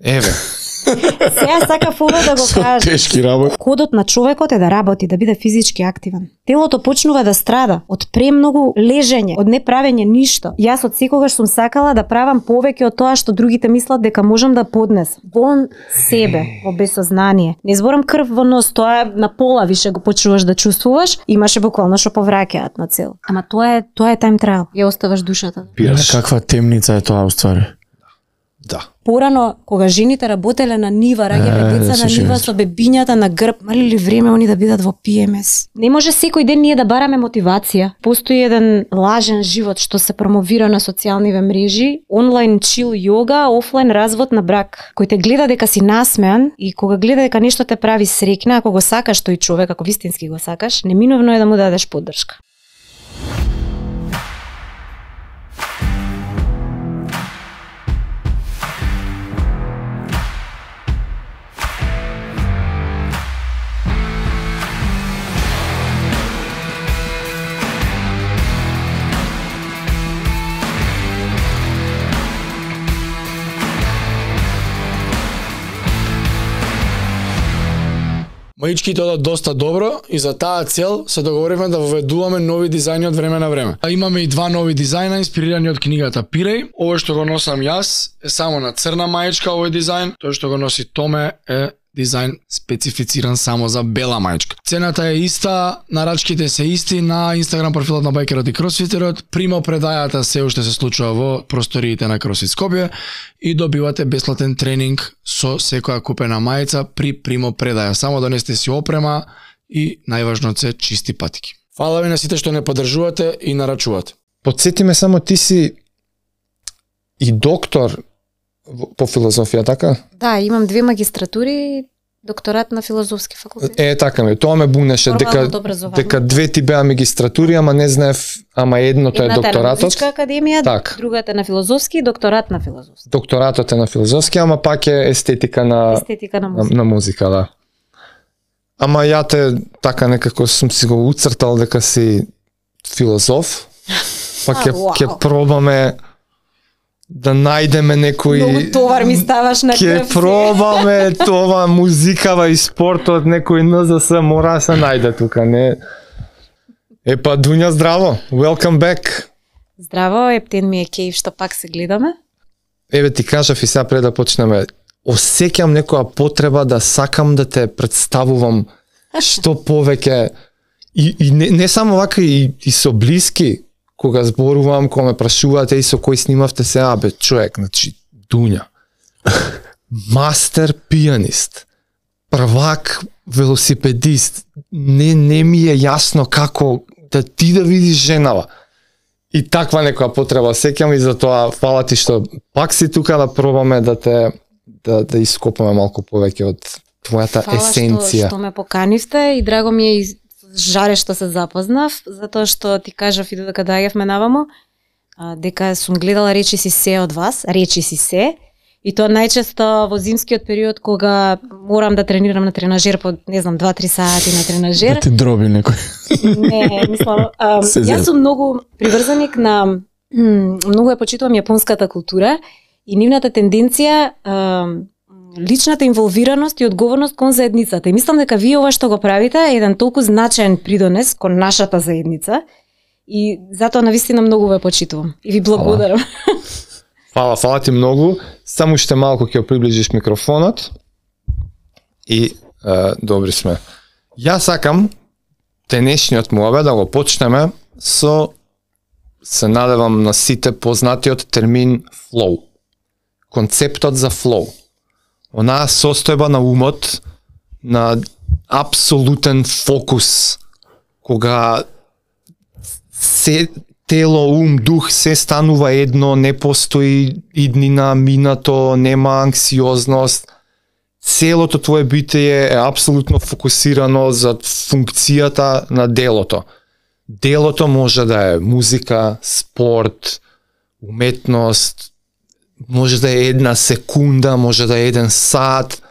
Еве. Сега сакав ова да го кажам. Тешки работи. Кодот на човекот е да работи, да биде физички активен. Телото почнува да страда од премногу лежење, од неправење ништо. Јас од секогаш сум сакала да правам повеќе од тоа што другите мислат дека можам да поднесам. Во себе, во безсознание. Не зборам крв во нос, тоа на пола више го почнуваш да чувствуваш, имаше буквално што повраќаат на цел. Ама тоа е time trial. Ја оставаш душата. Каква темница е тоа уствари? Да. Порано, кога жените работеле на нива, раѓале деца на нива со бебињата на грб, мали ли време они да бидат во PMS? Не може секој ден ние да бараме мотивација. Постои еден лажен живот што се промовира на социјалниве мрежи, онлайн чил јога, офлайн развод на брак, кој те гледа дека си насмеан и кога гледа дека нешто те прави среќна, ако го сакаш тој човек, ако вистински го сакаш, неминовно е да му дадеш поддршка. Маичките одат доста добро и за таа цел се договоривме да воведуваме нови дизајни од време на време. Имаме и два нови дизајна инспирирани од книгата Пиреј. Овој што го носам јас е само на црна маичка овој дизајн, тој што го носи Томе е дизајн специфициран само за бела маичка. Цената е иста, нарачките се исти на Инстаграм профилот на Байкерот и Кросфитерот. Примо предајата се уште се случува во просториите на Кросфит Скопје и добивате бесплатен тренинг со секоја купена мајца при примо предаја. Само донесете си опрема и најважно се чисти патики. Фала ви на сите што не поддржувате и нарачувате. Потсети ме само, ти си и доктор по филозофија, така? Да, имам 2 магистратури, докторат на филозофски факултет. Така ме, тоа ме бунеше дека 2 ти беа магистратури, ама не знаев, ама едното е докторатот. Едната е на Музичка академија, так. Другата е на филозофски, докторат на филозофски. Докторатот е на филозофски, ама пак е естетика на музика, да. Ама ја те така некако сум си го уцртал дека си филозоф, па ќе пробаме да најдеме некој... Многу товар ми ставаш на крв. Ќе пробаме това музикава и спортот, некој НЗС мора се најде тука, не... Епа, Дуња, здраво, welcome back. Здраво, ептен ми е кејф што пак се гледаме. Еве ти кажав и сега пред да почнеме, осеќам некоја потреба да сакам да те представувам што повеќе, и не само вака, и со блиски, кога зборувам, кога ме прашувате и со кој снимавте се, бе, човек, значи, Дуња. Мастер пианист, првак велосипедист, не ми е јасно како да ти да видиш женава. И таква некоја потреба сеќам и затоа фала ти што пак си тука да пробаме да те да ископаме малку повеќе од твојата есенција. Фала што ме поканивте и драго ми е жаре што се запознав, затоа што ти кажав и додека доаѓавме наваму, дека сум гледала Речи си се од вас, Речи си се, и тоа најчесто во зимскиот период кога морам да тренирам на тренажер по, не знам, 2-3 сати на тренажер. Да ти дроби некој. Не, мислам, јас сум многу приврзаник на, многу ја почитувам јапонската култура и нивната тенденција, личната инволвираност и одговорност кон заедницата. И мислам дека вие ова што го правите е еден толку значаен придонес кон нашата заедница и затоа навистина многу ве почитувам. И ви благодарам. Фала ти многу. Само уште малку ќе приближиш микрофонот. И добри сме. Јас сакам денешниот муабет да го почнеме со, се надевам на сите познатиот термин flow. Концептот за flow. Онаа состојба на умот, на апсолутен фокус, кога се тело, ум, дух се станува едно, не постои иднина, минато, нема анксиозност. Целото твое битие е апсолутно фокусирано за функцијата на делото. Делото може да е музика, спорт, уметност, може да е 1 секунда, може да е 1 сат.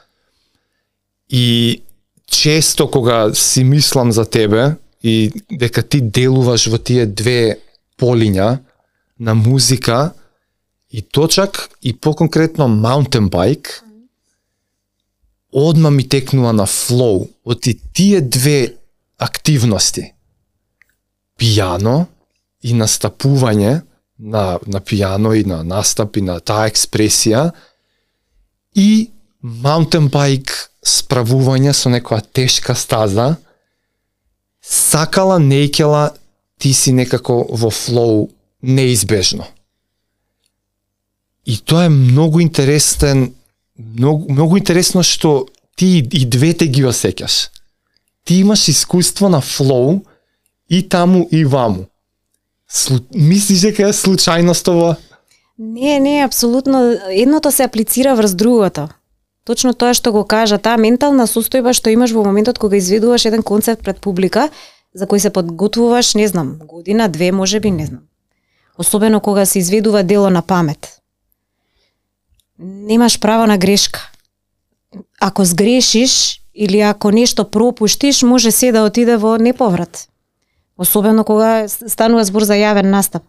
И често кога си мислам за тебе и дека ти делуваш во тие 2 полиња на музика и точак и поконкретно маунтен байк одма ми текнува на флоу од тие две активности. Пијано и настапување на пијано и на настап и на таа експресија и маунтенбајк справување со некоја тешка стаза, сакала, неќела, ти си некако во флоу неизбежно. И тоа е многу интересен, многу интересно што ти и двете ги осеќаш. Ти имаш искуство на флоу и таму и ваму. Мислиш дека е случајност ова? Не, апсолутно. Едното се аплицира врз другото. Точно тоа што го кажа, таа ментална состојба што имаш во моментот кога изведуваш еден концерт пред публика, за кој се подготвуваш, не знам, година, две, можеби, не знам. Особено кога се изведува дело на памет. Немаш право на грешка. Ако сгрешиш или ако нешто пропуштиш, може се да отиде во неповрат. Особено кога станува збор за јавен настап.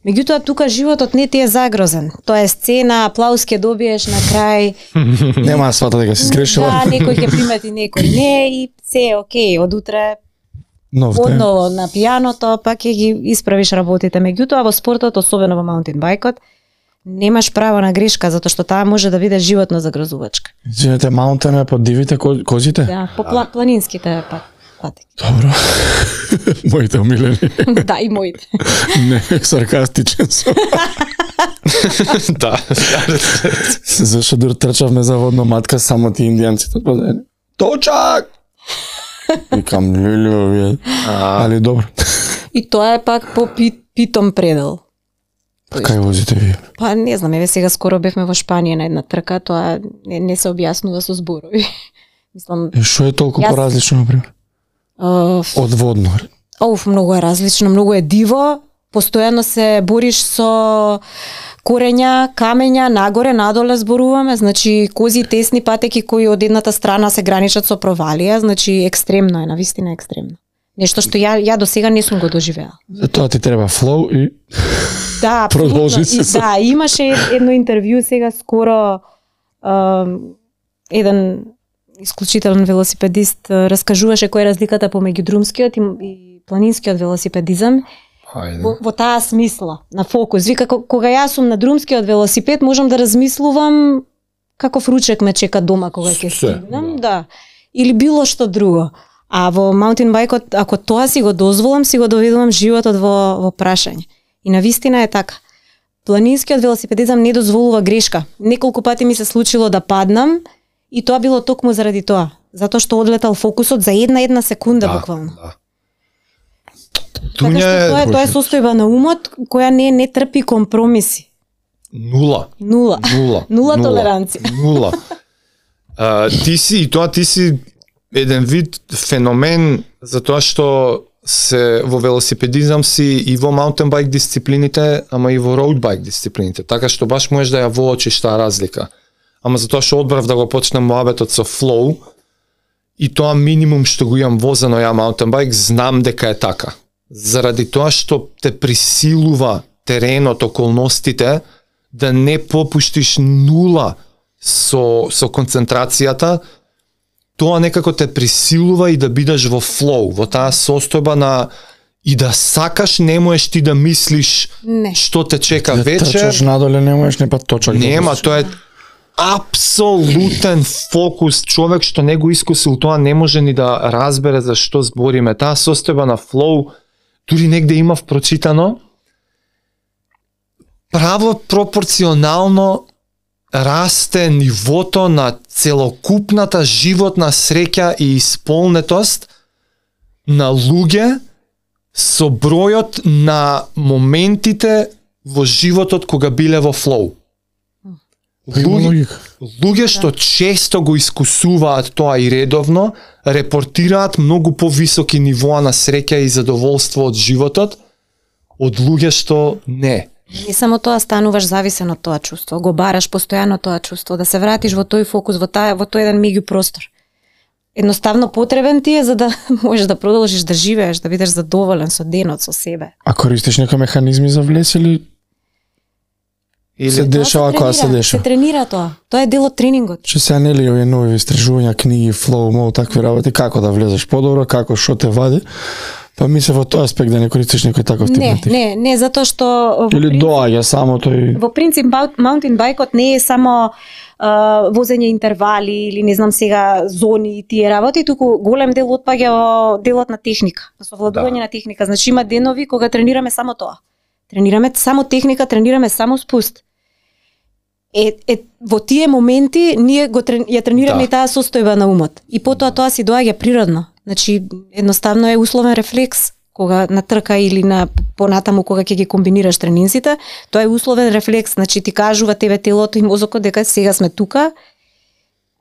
Меѓутоа, тука животот не ти е загрозен. Тоа е сцена, аплауз ќе добиеш на крај. Нема да свата дека си сгрешила. Да, некој ќе примати, некој не и се окей, од утре одново на пијаното, пак ќе ги исправиш работите. Меѓутоа, во спортот, особено во маунтенбајкот, немаш право на грешка, затоа што таа може да биде животно загрозувачка. Извинете, маунтен е под дивите козите? Да, по планинските пати. Добро. Моите омилени. Да, и моите. Не, саркастичен сум. Да. Зашто дур трчавме за водно матка, само ти индијанците позаедно. Точак! Викам, леле, али добро. И тоа е пак по питом предел. Кај возите вие? Па не знам, еве сега скоро бевме во Шпанија на една трка, тоа не се објаснува со зборови. Мислам, Што е толку поразлично, например? Од водно? Многу е различно, многу е диво. Постојано се бориш со корења, камења, нагоре, надоле зборуваме, значи кози тесни патеки кои од едната страна се граничат со провалија, значи екстремно е, навистина екстремно. Нешто што ја до сега не сум го доживеала. Затоа ти треба флоу и да, продолжи се. Да, имаше едно интервју сега скоро, еден исклучителен велосипедист раскажуваше која е разликата помеѓу друмскиот и планинскиот велосипедизам. Во таа смисла, на фокус. Вика, кога јас сум на друмскиот велосипед, можам да размислувам каков ручек ме чека дома кога ќе стигнам, да. Или било што друго. А во маунтенбајкот, ако тоа си го дозволам, си го доведувам животот во прашање. И навистина е така. Планинскиот велосипедизам не дозволува грешка. Неколку пати ми се случило да паднам и тоа било токму заради тоа. Затоа што одлетал фокусот за една секунда буквално. Да. Така што тоа е состојба на умот која не трпи компромиси. Нула толеранција. Нула. Ти си еден вид феномен затоа што се во велосипедизам си и во маунтенбајк дисциплините, ама и во роудбајк дисциплините. Така што баш можеш да ја воочиш таа разлика. Ама затоа што одбрав да го почнем муабетот со флоу и тоа минимум што го имам возено ја маунтенбајк, знам дека е така. Заради тоа што те присилува теренот, околностите, да не попуштиш нула со концентрацијата, тоа некако те присилува и да бидеш во флоу, во таа состојба на и да сакаш, не можеш ти да мислиш што те чека вечер. Трчаш надоле, не можеш не па точак. Нема, тоа е апсолутен фокус. Човек што не го искусил тоа не може ни да разбере за што збориме. Таа состојба на флоу, дури негде имав прочитано, право пропорционално расте нивото на целокупната животна среќа и исполнетост на луѓе со бројот на моментите во животот кога биле во флоу. Луѓе што често го искусуваат тоа и редовно, репортираат многу повисоки нивоа на среќа и задоволство од животот од луѓе што не. Не само тоа, стануваш зависен од тоа чувство, го бараш постојано тоа чувство, да се вратиш во тој фокус, во тој еден меѓупростор. Едноставно потребен ти е за да можеш да продолжиш да живееш, да бидеш задоволен со денот, со себе. А користиш некои механизми за влез или се дешава кога се деша. Се тренира тоа. Тоа е дел од тренингот. Че сега нели овие нови истражувања, книги, флоу, мол, такви работи, како да влезеш подобро, како што те вади. Па мислев во тој аспект да не користиш некој таков тип на техника. Не, затоа што или доаѓа само тој. Во принцип маунтин байкот не е само возење интервали или не знам сега зони и тие работи, туку голем дел отпаѓа во делот на техника, совладување на техника. Значи има денови кога тренираме само тоа. Тренираме само техника, тренираме само спуст. Во тие моменти ние ја тренираме и таа состојба на умот. И потоа тоа си доаѓа природно. Значи едноставно е условен рефлекс кога на трка или на понатаму кога ќе ги комбинираш тренинзите, тоа е условен рефлекс, значи ти кажува тебе телото и мозокот дека сега сме тука,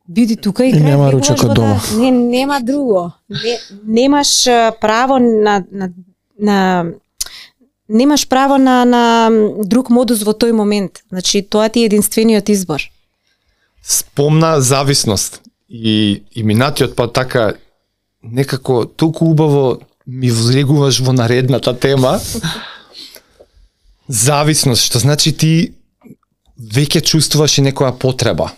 биди тука и нема ручек од дома. Нема друго. Немаш право немаш право на друг модус во тој момент. Значи тоа ти е единствениот избор. Спомна зависност и минатиот па така некако толку убаво ми влегуваш во наредната тема. Зависност, што значи ти веќе чувствуваш и некоја потреба.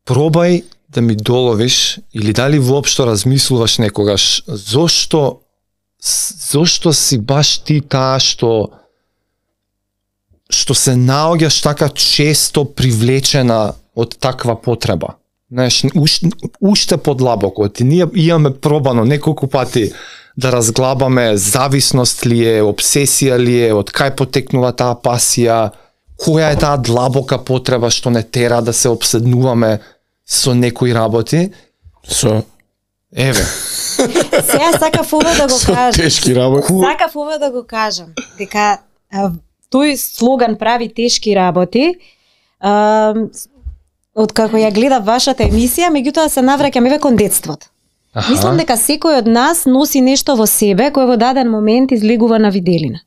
Пробај да ми доловиш или дали воопшто размислуваш некогаш зошто си баш ти таа што се наоѓаш така често привлечена од таква потреба. Знаеш, уште подлабоко. Ние имаме пробано неколку пати да разглабаме зависност ли е, обсесија ли е, од кај потекнува таа пасија, која е таа длабока потреба што не тера да се обседнуваме со некои работи. Еве. Сега сакав ова да го кажам. Тешки работи. Сакав ова да го кажам. Дека тој слоган прави тешки работи. Откако ја гледав вашата емисија, меѓутоа се навраќам еве кон детството. Мислам дека секој од нас носи нешто во себе кој во даден момент излегува на виделина.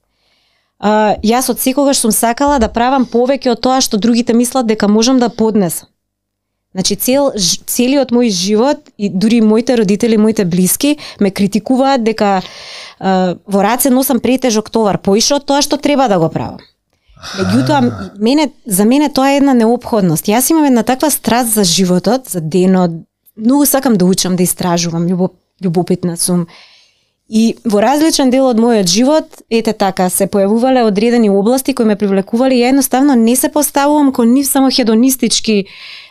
Јас од секогаш сум сакала да правам повеќе од тоа што другите мислат дека можам да поднесам. Значи целиот мој живот и дури моите родители, моите блиски ме критикуваат дека во раце носам претежок товар, поише од тоа што треба да го правам. Меѓутоа, за мене тоа е една неопходност. Јас имам една таква страст за животот, за денот, многу сакам да учам, да истражувам, љубопитна сум. И во различен дел од мојот живот, ете така, се појавувале одредени области кои ме привлекувале и ја едноставно не се поставувам кон нив само хедонистички,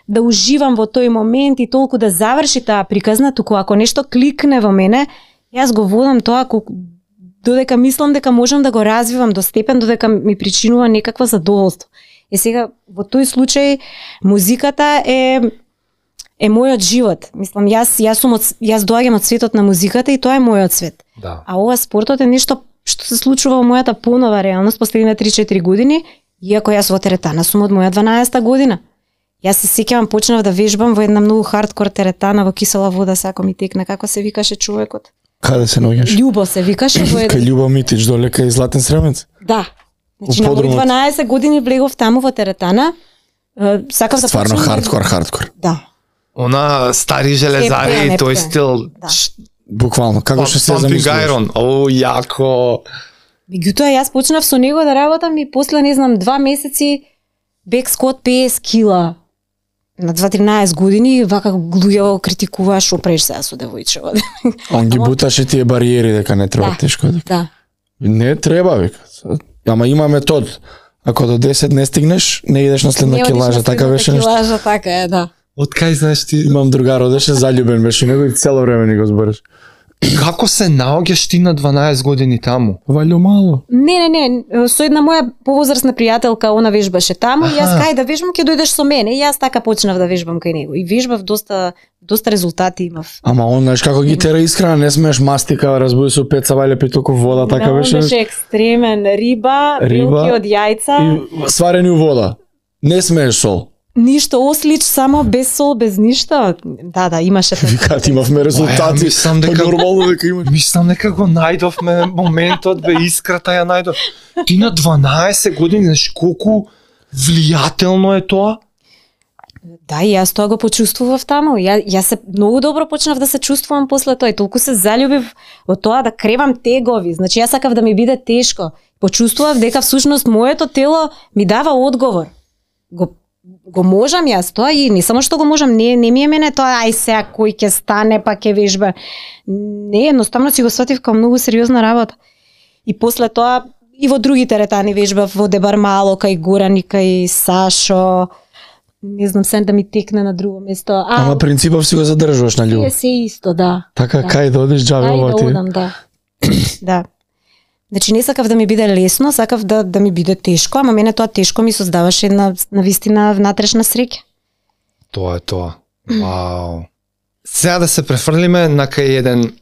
да уживам во тој момент и толку да заврши таа приказна, туку ако нешто кликне во мене, јас го водам тоа додека мислам дека можам да го развивам до степен додека ми причинува некаква задоволство. Сега во тој случај музиката е мојот живот. Мислам јас доаѓам од светот на музиката и тоа е мојот свет. Да. А ова спортот е нешто што се случува во мојата понова реалност последните 3-4 години, иако јас во теретана сум од моја 12-та година. Јас се сеќавам, почнав да вежбам во една многу хардкор теретана во кисела вода, сако ми текна, како се викаше човекот? Каде се наоѓаш? Љубо се викаше во Кај Љубо Митич доле кај Златен Сремец? Да. Значи на мои 12 години влегов таму во теретана. Сакав да стварно хардкор. Да. Она стари железари, тој стил. Да. Буквално, како што се замислуваш? О, јако. Меѓутоа јас почнав со него да работам и после не знам 2 месеци бек скот 50 кила. На 2-13 години вака луѓе критикуваа што преш сега со девојчева. Он ги буташе тие бариери дека не треба тешко. Да. Не треба вика. Ама има метод. Ако до 10 не стигнеш, не идеш на следна килажа, така беше нешто. Килажа така е, да. Од кај знаеш ти? Имам другар, одеше заљубен беше него и цело време ни го збориш. Како се наоѓаш ти на 12 години таму? Валјо мало. Не, со една моја повозрасна пријателка, она вежбаше таму и јас кај да вежбам ќе дојдеш со мене и јас така почнав да вежбам кај него. И вежбав доста резултати имав. Ама он знаеш како ги тера исхрана, не смееш мастика, разбуди со пеца вајле питоко вода, така беше. Беше екстремен, риба, билки од јајца и сварени у вода. Не смееш сол. Ништо ослич, само без сол, без ништо. Да, имаше така. Викаат имавме резултати. Мислам дека нормално дека имаш. Мислам дека го најдовме моментот, искрата ја најдов. Ти на 12 години, знаеш колку влијателно е тоа? Да, и јас тоа го почувствував таму. Јас се многу добро почнав да се чувствувам после тоа и толку се заљубив во тоа да кревам тегови. Значи јас сакав да ми биде тешко. Почувствував дека всушност моето тело ми дава одговор. Го можам јас тоа и не само што го можам, не ми е мене тоа ај сега кој ќе стане па ќе вежба. Не, едноставно си го сватив како многу сериозна работа. И после тоа и во други теретани вежбав, во Дебармало, кај Горан и кај Сашо. Не знам се да ми текне на друго место. Ама принципов си го задржуваш на љубов. Се исто, да. Така да. Кај да одиш џабе ова ти. Кај да одам, да. Да. Значи не сакав да ми биде лесно, сакав да ми биде тешко, ама мене тоа тешко ми создаваше една навистина внатрешна среќа. Тоа е тоа. Вау. Сега да се префрлиме на кај еден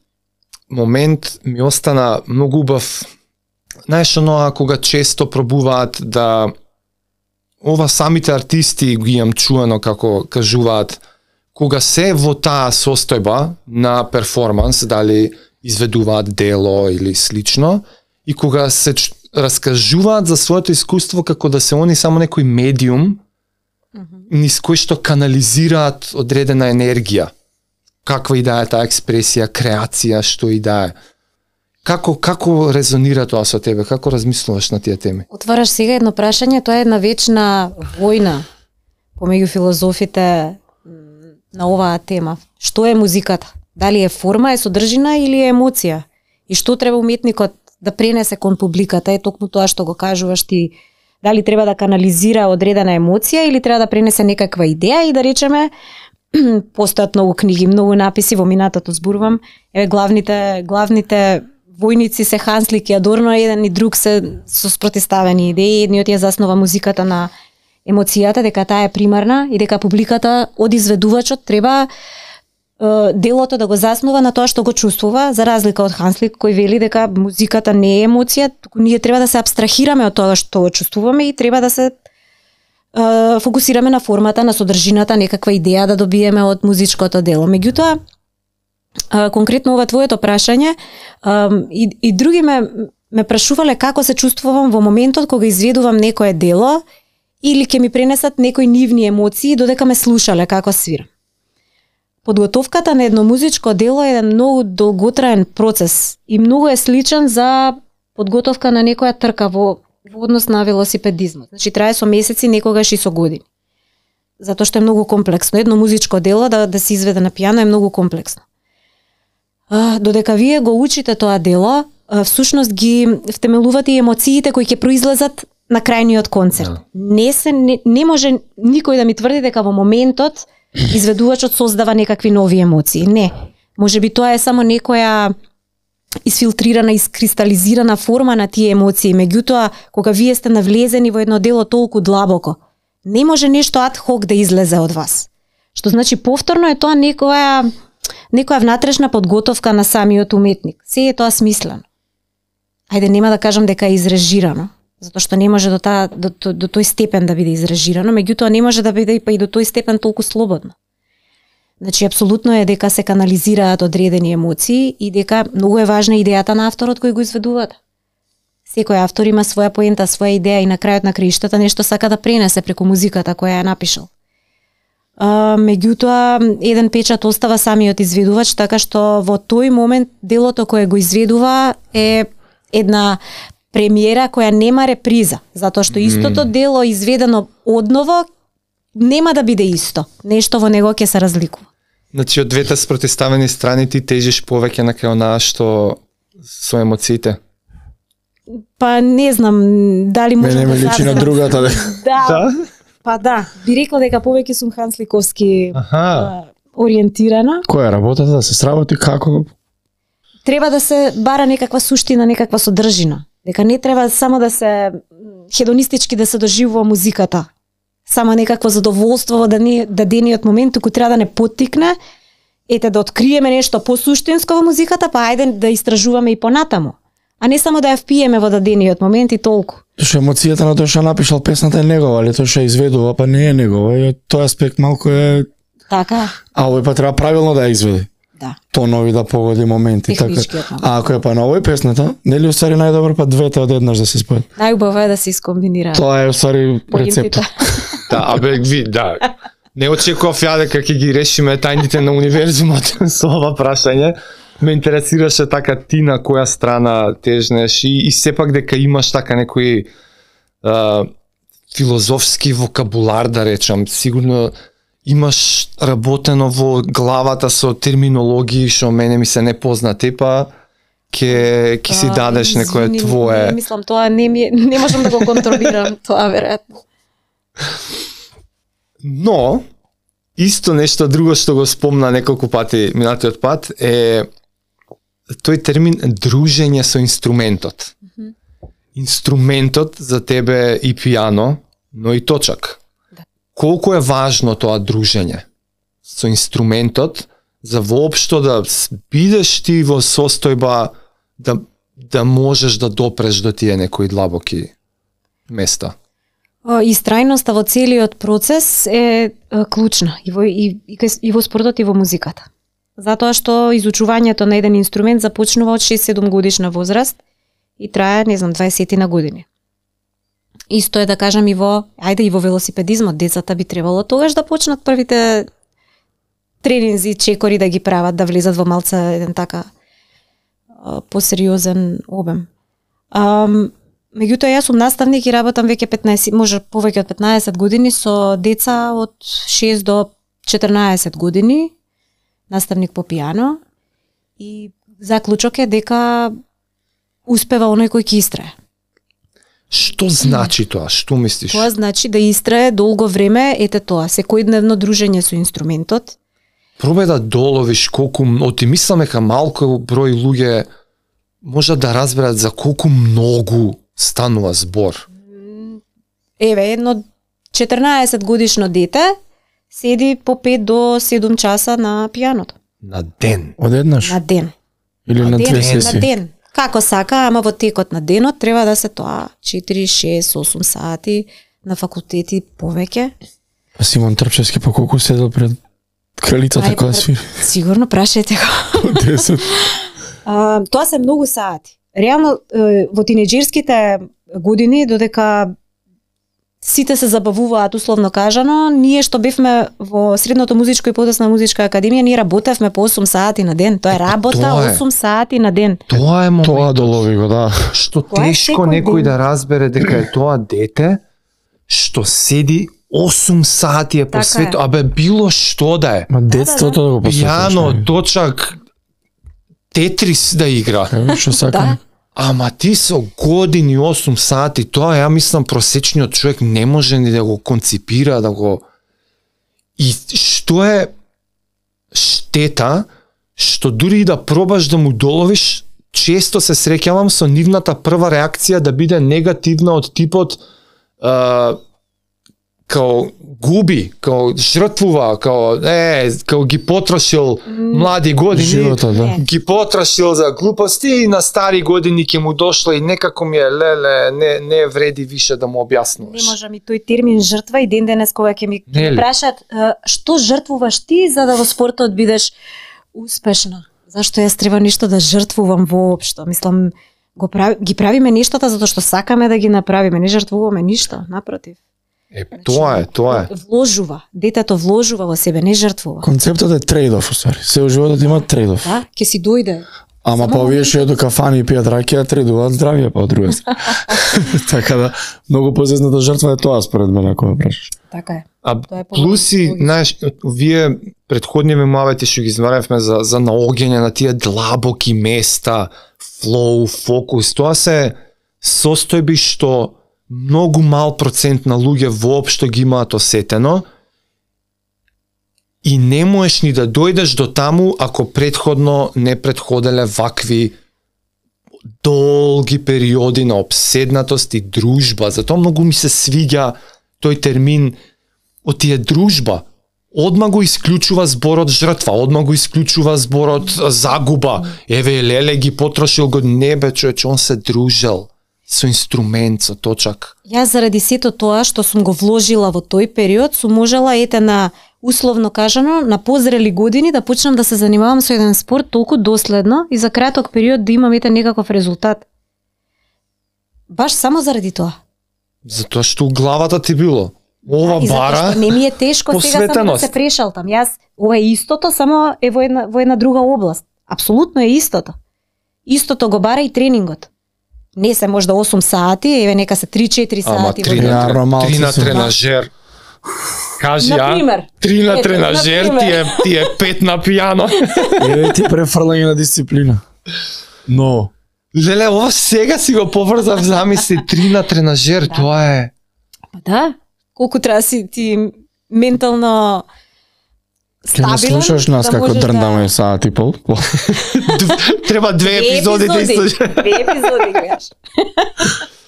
момент ми остана многу убав. Знаеш оноа кога често пробуваат да ова самите артисти ги имам чуено како кажуваат кога се во таа состојба на перформанс, дали изведуваат дело или слично, и кога се раскажуваат за своето искуство како да се они само некој медиум низ кој што канализираат одредена енергија. Каква и да е таа експресија, креација, што и да е. Како резонира тоа со тебе? Како размислуваш на тие теми? Отвараш сега едно прашање, тоа е една вечна војна помеѓу филозофите на оваа тема. Што е музиката? Дали е форма, е содржина или е емоција? И што треба уметникот да пренесе кон публиката? Е токму тоа што го кажуваш ти. Дали треба да канализира одредена емоција или треба да пренесе некаква идеја и да речеме постојат многу книги, многу написи, во минатото зборувам. Еве главните војници се Ханслик и Адорно, еден и друг се со спротиставени идеи. Едниот ја заснова музиката на емоцијата, дека таа е примарна и дека публиката од изведувачот треба делото да го заснува на тоа што го чувствува, за разлика од Ханслик кој вели дека музиката не е емоција, туку ние треба да се абстрахираме од тоа што го чувствуваме и треба да се фокусираме на формата, на содржината, некаква идеја да добиеме од музичкото дело. Меѓутоа, конкретно ова твоето прашање, и други ме прашувале како се чувствувам во моментот кога изведувам некое дело или ќе ми пренесат некои нивни емоции додека ме слушале како свирам. Подготовката на едно музичко дело е еден многу долготраен процес и многу е сличен за подготовка на некоја трка во однос на велосипедизмот. Значи трае со месеци, некогаш и со години. Затоа што е многу комплексно. Едно музичко дело да се изведе на пијано е многу комплексно. Додека вие го учите тоа дело, всушност ги втемелувате и емоциите кои ќе произлезат на крајниот концерт. Не може никој да ми тврди дека во моментот изведувачот создава некакви нови емоции. Не. Можеби тоа е само некоја исфилтрирана, искристализирана форма на тие емоции. Меѓутоа, кога вие сте навлезени во едно дело толку длабоко, не може нешто ад хок да излезе од вас. Што значи повторно е тоа некоја внатрешна подготовка на самиот уметник. Се е тоа смислено. Ајде, нема да кажам дека е изрежирано, затоа што не може до тој степен да биде изрежирано, меѓутоа не може да биде и до тој степен толку слободно. Значи, апсолутно е дека се канализираат одредени емоции и дека многу е важна идејата на авторот кој го изведува. Секој автор има своја поента, своја идеја и на крајот на краиштата нешто сака да пренесе преку музиката која е напишал. Меѓутоа, еден печат остава самиот изведувач, така што во тој момент делото кое го изведува е една премиера која нема реприза, затоа што истото дело изведено одново нема да биде исто. Нешто во него ќе се разликува. Значи, од двете спротиставени страни ти тежиш повеќе на кај онаа што со емоциите? Па не знам дали може да личи на другата. Да. Па да, би рекла дека повеќе сум хансликовски ориентирана. Која работата да се сработи како? Треба да се бара некаква суштина, некаква содржина. Дека не треба само да се хедонистички да се доживува музиката. Само некакво задоволство во дадениот момент, туку треба да не поттикне, да откриеме нешто посуштинско во музиката, па ајде да истражуваме и понатаму. А не само да ја впиеме во дадениот момент и толку. Што емоцијата на тој што напишал песната е негова, али тој што изведува па не е негова, и тој аспект малку е така. А овој па треба правилно да ја изведе. Да. Тонови да погоди моменти, така. А ако е па на овој песната, нели уствари најдобро па двете одеднаш да се спојат? Најубаво е да се искомбинира. Тоа е уствари рецепт. Да, да. Не очекував ја дека ќе ги решиме тајните на универзумот со ова прашање. ме интересираше така ти на која страна тежнеш и сепак дека имаш така некои филозофски вокабулар, да речам. Сигурно имаш работено во главата со терминологии што мене ми се непознати, па ќе си дадеш некое твое. Не мислам тоа, не можам да го контролирам тоа веројатно. Но исто нешто друго што го спомна неколку пати минатиот пат е тој термин дружење со инструментот. Инструментот за тебе и пијано, но и точак. Да. Колку е важно тоа дружење со инструментот за воопшто да бидеш ти во состојба да можеш да допреш до тие некои длабоки места? Истрајноста во целиот процес е клучна и во спортот и во музиката. Затоа што изучувањето на еден инструмент започнува од 6-7 годишна возраст и трае, не знам, 20 на години. Исто е да кажам и во велосипедизмот, децата би требало тогаш да почнат првите тренинзи, чекори да ги прават, да влезат во малца еден така посериозен обем. Меѓутоа, јас сум наставник и работам веќе 15, може повеќе од 15 години со деца од 6 до 14 години, наставник по пијано, и заклучок е дека успева оној кој ќе истрае. Што значи тоа? Што мислиш? Тоа значи да истрае долго време, ете тоа, секојдневно дружење со инструментот. Пробај да доловиш колку, оти мислам дека малку број луѓе можат да разберат за колку многу станува збор. Еве, едно 14 годишно дете седи по 5 до 7 часа на пијаното. На ден? Одеднаш? На ден. Или на две сесии? На ден. Како сака, ама во текот на денот треба да се тоа 4, 6, 8 сати, на факултети повеќе. А Симон Трпчевски по колку седел пред кралицата која свири? Сигурно прашајте го. 10. Тоа се многу сати. Реално во тинеџерските години, додека сите се забавуваат условно кажано, ние што бевме во средното музичко и подосна музичка академија, ние работевме по 8 сати на ден. Тоа е работа 8 сати на ден. Тоа е момент. Тоа долови го, да. Што тешко некој да разбере дека е тоа дете што седи 8 сати е посветено, абе било што да е. Ма детството да го посветиш. Пијано, точак, Тетрис да игра. Што сакам. Да. Ама ти со години 8 сати, тоа ја мислам просечниот човек не може ни да го конципира, да го... И што е штета, што дури и да пробаш да му доловиш, често се среќавам со нивната прва реакција да биде негативна од типот као губи, као жртвува, као ги потрошил млади години, живота, да. Ги потрошил за глупости и на стари години ќе му дошла и некако ми е не вреди више да му објаснуваш. Не можам и тој термин жртва и ден денес кога ќе ми прашат што жртвуваш ти за да во спортот бидеш успешна. Зашто јас треба ништо да жртвувам воопшто? Мислам, ги правиме нештата затоа што сакаме да ги направиме, не жртвуваме ништо, напротив. Тоа е. Вложува, детето вложува во себе, не жртвува. Концептот е трейд-оф, усари. Се животот има трейд-оф. Да, ќе си дојде. Ама па овие што до кафани и пијат ракија трейдуваат здравје па од друга страна. Така да многу позезната жртва е тоа според мене ако ме прашаш. Така е. А плюси, знаеш, вие претходниве муавети што ги изваревме за наоѓање на тие длабоки места, флоу, фокус, тоа се состојби што многу мал процент на луѓе воопшто ги имаат осетено и не можеш ни да дојдеш до таму ако претходно не претходеле вакви долги периоди на обседнатост и дружба. Затоа многу ми се свиѓа тој термин од тие дружба. Одма го исклучува зборот жртва, одма го исклучува зборот загуба. Еве леле ги потрошил го, не бе човече, он се дружел со инструмент, со точак. Јас заради сето тоа што сум го вложила во тој период, сум можела на условно кажано на позрели години да почнам да се занимавам со еден спорт толку доследно и за краток период да имам некаков резултат. Баш само заради тоа. Затоа што главата ти било. Ова бара не ми е тешко сега само да се прешалтам. Јас ова е истото, само е во една друга област. Апсолутно е истото. Истото го бара и тренингот. Не се можда 8 сати, еве нека се 3-4 сати. Ама 3 на тренажер. Кажи, например, 3 на тренажер, ти е 5 на пијано. Еве ти префрлање на дисциплина. Но Леле, ова сега си го поврзав, замисли 3 на тренажер, тоа е. Па да, колку треба си ти ментално стабилен. Ке слушаш нас како дрндаме саат и пол. Треба 2 епизоди да изслушаш. 2 епизоди гледаш.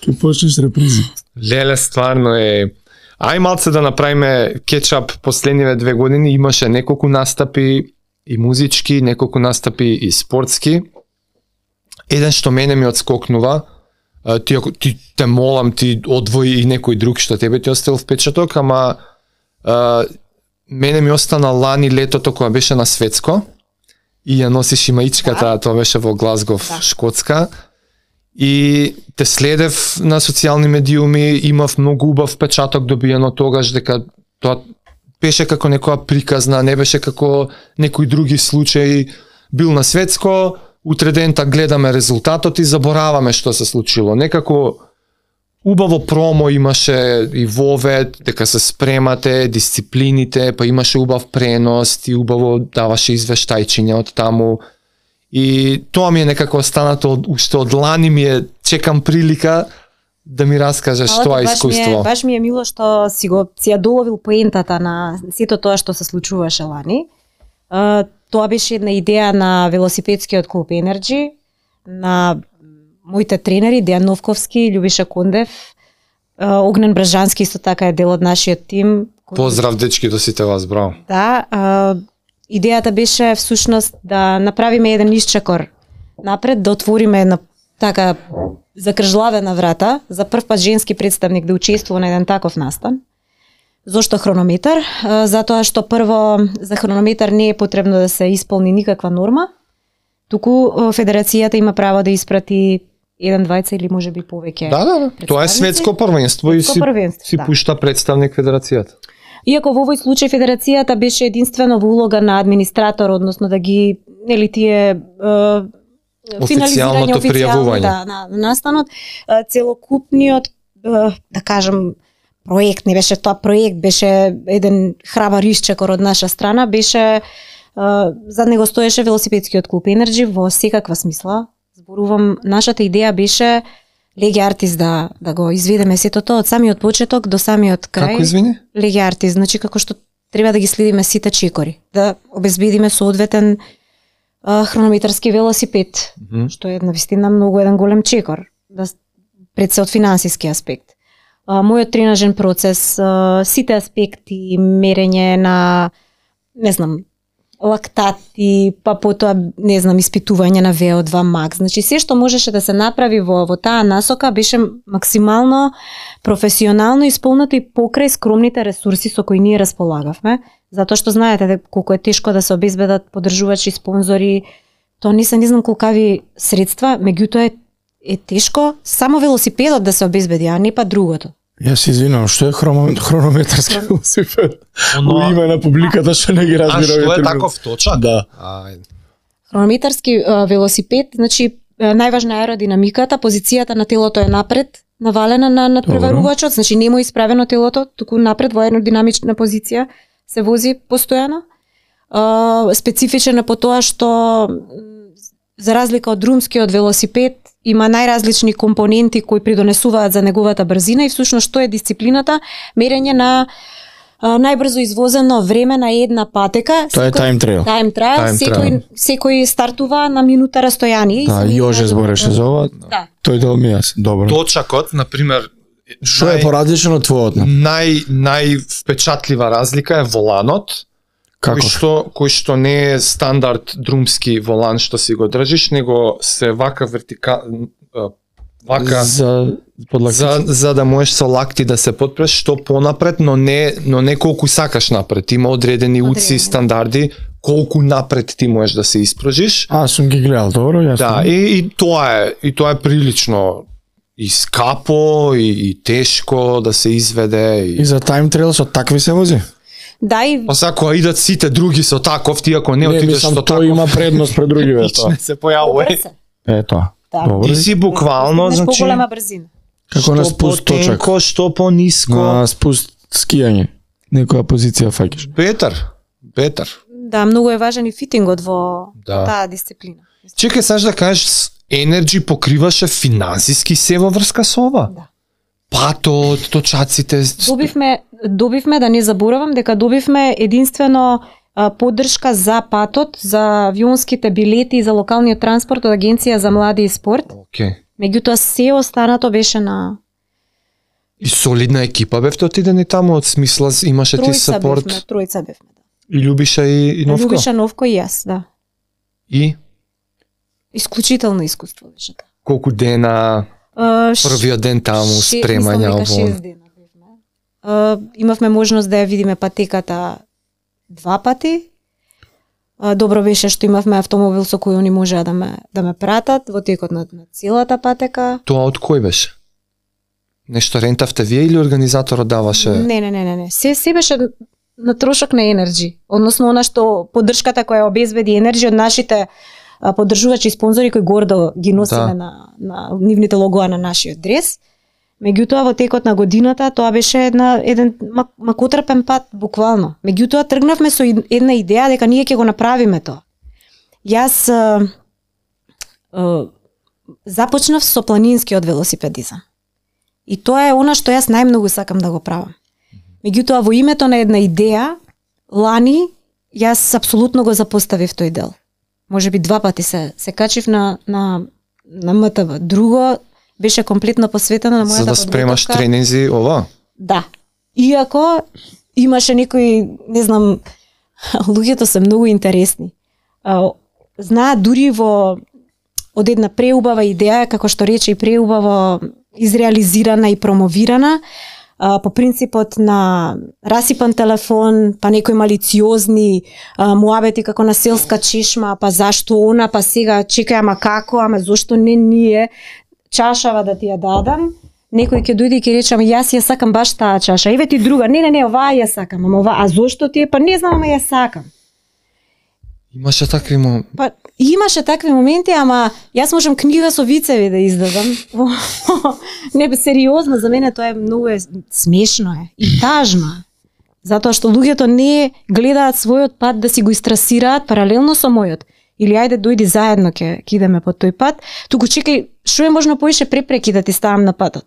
Ке почнеш репризи. Леле, стварно е. Ај малце да направиме кетчап последниве 2 години, имаше неколку настапи и музички, неколку настапи и спортски. Еден што мене ми отскокнува, ти те молам, ти одвои и некој друг што тебе ти оставил впечаток, ама мене ми остана лани летото кога беше на светско и ја носиш и маичката, тоа беше во Глазгов, Шкотска. И те следев на социјални медиуми, имав многу убав впечаток добиено тогаш, дека тоа беше како некоја приказна, не беше како некои други случаи. Бил на светско, утре дента гледаме резултатот и забораваме што се случило. Некако убаво промо имаше и вовед, дека се спремате, дисциплините, па имаше убав пренос и убаво даваше извештајчиња од таму. И тоа ми е некако останато уште од лани, ми е, чекам прилика да ми раскажеш тоа искуство. Баш ми е мило што си ја доловил поентата на сето тоа што се случуваше лани. Тоа беше една идеја на велосипедскиот клуб Energy, на моите тренери Дејан Новковски, Љубиша Кондев, Огнен Бражански исто така е дел од нашиот тим. Поздрав дечки до сите вас, браво. Да, идејата беше всушност да направиме еден исчекор напред, да отвориме една така закржлавена врата, за прв пат женски представник да учествува на еден таков настан. Зошто хронометар? Затоа што прво за хронометар не е потребно да се исполни никаква норма, туку федерацијата има право да испрати еден, двајца или можеби повеќе. Да, тоа е светско првенство и си пушта представник федерацијата. Иако во овој случај федерацијата беше единствено во улога на администратор, односно да ги, нели тие официјалното пријавување на настанот, целокупниот, да кажам, проект, не беше тоа проект, беше еден храбар исчекор од наша страна, беше зад него стоеше велосипедскиот клуб Energy во секаква смисла. Зборувам, нашата идеја беше Леги Артис да го изведеме сето тоа од самиот почеток до самиот крај. Како извини? Леги Артис, значи како што треба да ги следиме сите чекори, да обезбедиме соодветен хронометарски велосипед, што е навистина многу еден голем чекор, да пред се од финансиски аспект. Мојот тренажен процес, сите аспекти, мерење на, не знам, лактати, па потоа, не знам, испитување на VO2 max. Значи, се што можеше да се направи во таа насока беше максимално професионално исполнето и покрај скромните ресурси со кои ние располагавме, затоа што знаете колку е тешко да се обезбедат поддржувачи, спонзори, тоа не се не знам колкави средства, меѓутоа е тешко само велосипедот да се обезбеди, а не па другото. Јас се извинувам, што е хронометарски велосипед? Во име на публиката што не ги разбира. А што е таков точак? Да. Хронометарски велосипед, значи најважна е аеродинамиката, позицијата на телото е напред, навалена на надпреварувачот, значи нема исправено телото, туку напред во аеродинамична позиција се вози постојано. Специфичен е по тоа што за разлика од друмскиот велосипед има најразлични компоненти кои придонесуваат за неговата брзина и всушност што е дисциплината, мерење на најбрзо извозено време на една патека. Тоа е time trial. Time trial, секој стартува на минута растојание. Да, Јоже збореше за ова. Да. Тој дел ми јас. Добро. Точакот, на пример, што е поразлично од твојот? Највпечатлива разлика е воланот. Кој што не е стандард друмски волан што си го држиш, него се вака вака за да можеш со лакти да се потпреш што понапред, но не колку сакаш напред. Има одредени уци стандарди колку напред ти можеш да се испружиш. Сум ги гледал, добро, јасно. Да, и тоа е прилично и скапо и тешко да се изведе. И за time trial со такви се вози? Да, и Па сега кога идат сите други со таков, ти ако не Не, отидеш мислам, со тој таков, има предност пред другиве тоа. не се појавува. добре се. Ето. Да. Добро. Ти си буквално, Постигнеш значи, поголема брзина. Како на спуст точак. потенко, што пониско. На спуст скијање. Некоја позиција фаќаш. Бетар. Да, многу е важен и фитингот во Да. таа дисциплина. Чекај, саш да кажеш, Energy покриваше финансиски се во врска со ова? Да. Патот, точаците. Добивме да не заборавам дека добивме единствено поддршка за патот, за авионските билети и за локалниот транспорт од Агенција за млади и спорт. Океј. Меѓутоа се останато беше на И солидна екипа бевте отидени таму, од смисла имаше ти сапорт. тројца бевме. И Љубиша и Новко. Љубиша Новко и јас, да. И Исклучително искуство беше тоа. колку дена, првиот ден таму, спремање, Мислам дека 6 дена бевме. Имавме можност да ја видиме патеката 2 пати. Добро беше што имавме автомобил со кој они можеа да ме пратат во текот на целата патека. Тоа од кој беше? Нешто рентавте вие или организаторот даваше? Не. Се беше на трошок на Energy. Односно, она што поддршката која обезбеди Energy од нашите поддржувачи и спонзори кои гордо ги носиме на нивните логоа на нашиот дрес. Меѓутоа, во текот на годината, тоа беше еден макотрпен пат, буквално. Меѓутоа, тргнавме со една идеја дека ние ќе го направиме тоа. Јас започнав со планинскиот велосипедизам. И тоа е она што јас најмногу сакам да го правам. Меѓутоа, во името на една идеја, лани, јас апсолутно го запоставив тој дел. Може би 2 пати се качив на МТВ. Друго беше комплетно посветено на мојата За да спремаш подготовка. тренинзи, ова? Да. Иако имаше некои, не знам, луѓето се многу интересни. Знаат дури од една преубава идеја, како што рече и преубаво изреализирана и промовирана, по принципот на расипан телефон, па некои малициозни муабети како на селска чешма, па зашто она, па сега чекај, ама како, ама зошто не ние, чашава да ти ја дадам, некој ќе дојде и ќе рече, ама јас ја сакам баш таа чаша, еве ти друга, не, оваа ја сакам, ама оваа, а зошто ти е, па не знам, ама ја сакам. Имаше такви Па имаше такви моменти, ама јас можам книга со вицеви да издадам. Не, сериозно, за мене тоа е многу смешно е и тажно е. Затоа што луѓето не гледаат својот пат да си го истрасираат паралелно со мојот. Или ајде дојди заедно ќе идеме по тој пат, туку чекај што е можно поише препреки да ти ставам на патот.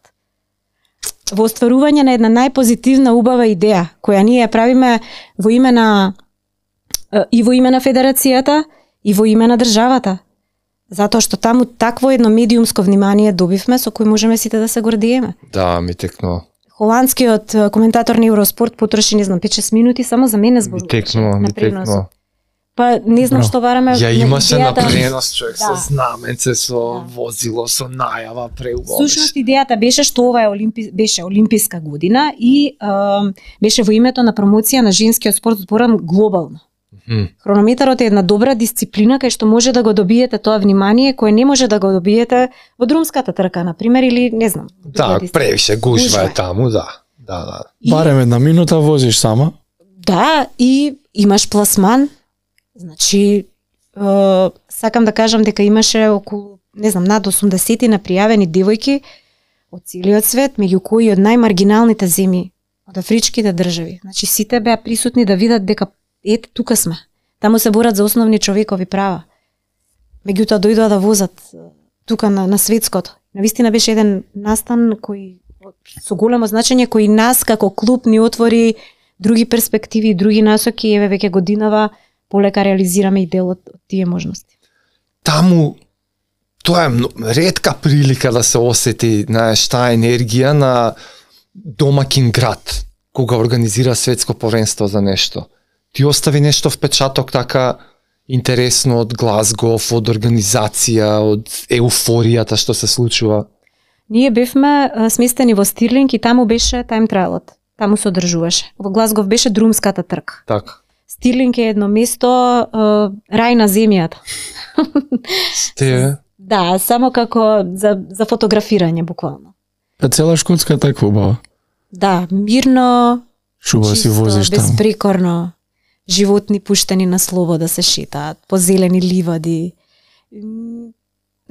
Во остварување на една најпозитивна убава идеја која ние ја правиме во име на и во име на федерацијата и во име на државата. Затоа што таму такво едно медиумско внимание добивме со кој можеме сите да се гордиеме. Да, ми текнува. Холандскиот коментатор на Евроспорт потроши, не знам, 5-6 минути само за мене зборуваше. Ми текнува. Па не знам што бараме. Ја имаше на идејата... пренос човек Да. со знаменце, со возило, со најава, преубаво. Сушност идејата беше што ова е беше олимписка година и беше во името на промоција на женскиот спорт зборам глобално. Хронометарот е една добра дисциплина кај што може да го добиете тоа внимание кое не може да го добиете во друмската трка, на пример, или не знам. Да, превише гужва е таму, да. И, Барем една минута возиш сама. Да, и имаш пласман. Значи, сакам да кажам дека имаше околу, не знам, над 80 напријавени девојки од целиот свет, меѓу кои од најмаргиналните земји, од афричките држави. Значи, сите беа присутни да видат дека ете, тука сме. Таму се борат за основни човекови права. Меѓутоа дојдоа да возат тука на светското. Навистина беше еден настан кој со големо значење кој нас како клуб ни отвори други перспективи, други насоки, еве веќе годинава полека реализираме и дел од тие можности. Таму тоа е ретка прилика да се осети, знаеш, таа енергија на домакин град кога организира светско првенство за нешто. Ти остави нешто впечаток така интересно од Глазгов, од организација, од еуфоријата што се случува. Ние бевме сместени во Стирлинг и таму беше тайм трајлот. Таму се одржуваше. Во Глазгов беше друмската трка. Така. Стирлинг е едно место рај на земјата. Те Да, само како за фотографирање буквално. Па цела Шкотска таква убава. Да, мирно, Шуба си чисто, возиш таму. безпрекорно. Животни пуштени на слобода се шетаат, по зелени ливади.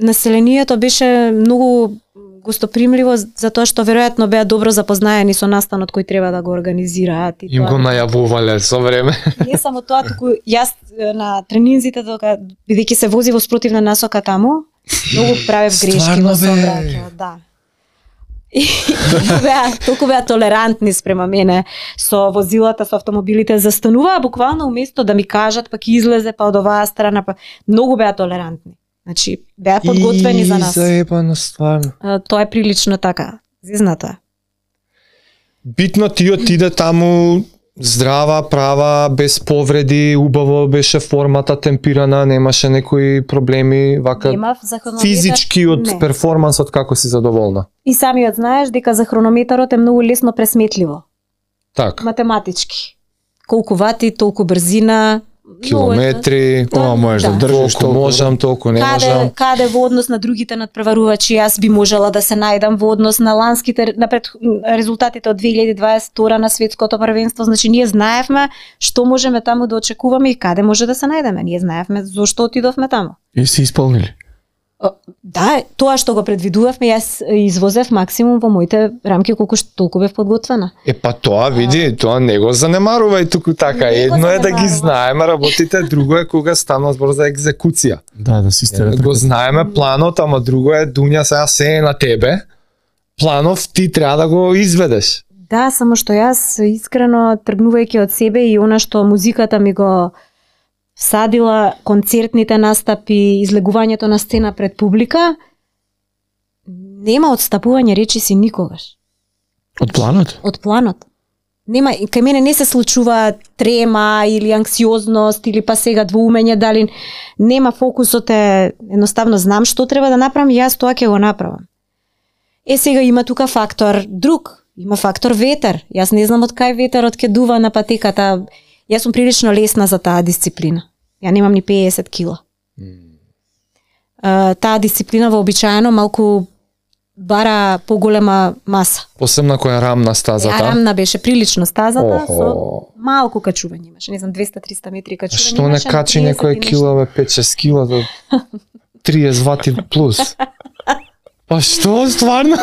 Населението беше многу гостопримливо затоа што веројатно беа добро запознаени со настанот кој треба да го организираат. И Им го најавувале со време. Не само тоа, туку јас на тренинзите бидејќи се вози во спротивна насока таму, многу правев грешки Стварно, во бе? сообраќајот, да. И толку беа толерантни спрема мене со возилата, со автомобилите, застануваа буквално уместо да ми кажат, пак излезе па од оваа страна, па многу беа толерантни. Значи беа подготвени за нас. Заебано стварно. Тоа е прилично така, зизнато. Битно ти отиде таму здрава, права, без повреди, убаво беше формата темпирана, немаше некои проблеми, вака Немав за хронометар. физички од Не. перформансот како си задоволна. И самиот знаеш дека за хронометарот е многу лесно пресметливо. Так, Математички. Колку вати, толку брзина, километри, Ова можеш да држиш толку можам, толку не можам. Каде во однос на другите надпреварувачи јас би можела да се најдам во однос на ланските резултатите од 2022 на светското првенство, значи ние знаевме што можеме таму да очекуваме и каде може да се најдеме. Ние знаевме зошто отидовме таму. И си исполнили. Да, тоа што го предвидувавме, јас извозев максимум во моите рамки колку што толку бев подготвена. Па тоа види, тоа не го занемарувај туку така. Не го Едно е да ги занемарувам. знаеме работите, друго е кога станува збор за екзекуција. Да си стерат. Го знаеме планот, ама друго е Дуња сега се е на тебе. Планов ти треба да го изведеш. Да, само што јас искрено тргнувајќи од себе и она што музиката ми го всадила, концертните настапи, излегувањето на сцена пред публика, нема отстапување речиси никогаш. Од планот? Од планот. Нема, кај мене не се случува трема или анксиозност или па сега двоумење, дали нема, фокусот е едноставно знам што треба да направам и јас тоа ќе го направам. Сега има тука фактор друг, има фактор ветер. Јас не знам од кај ветерот ќе дува на патеката. Јас сум прилично лесна за таа дисциплина. Ја немам ни 50 кила. Таа дисциплина вообичаено малку бара поголема маса. Посебно која е рамна стазата. Рамна беше прилично стазата, Охо. со малку качување имаше, не знам 200-300 метри качување. Што не имаше на качи 30 некој и нешто. кила, бе, 5-6 кила до 30 вати плюс. Па што, стварно?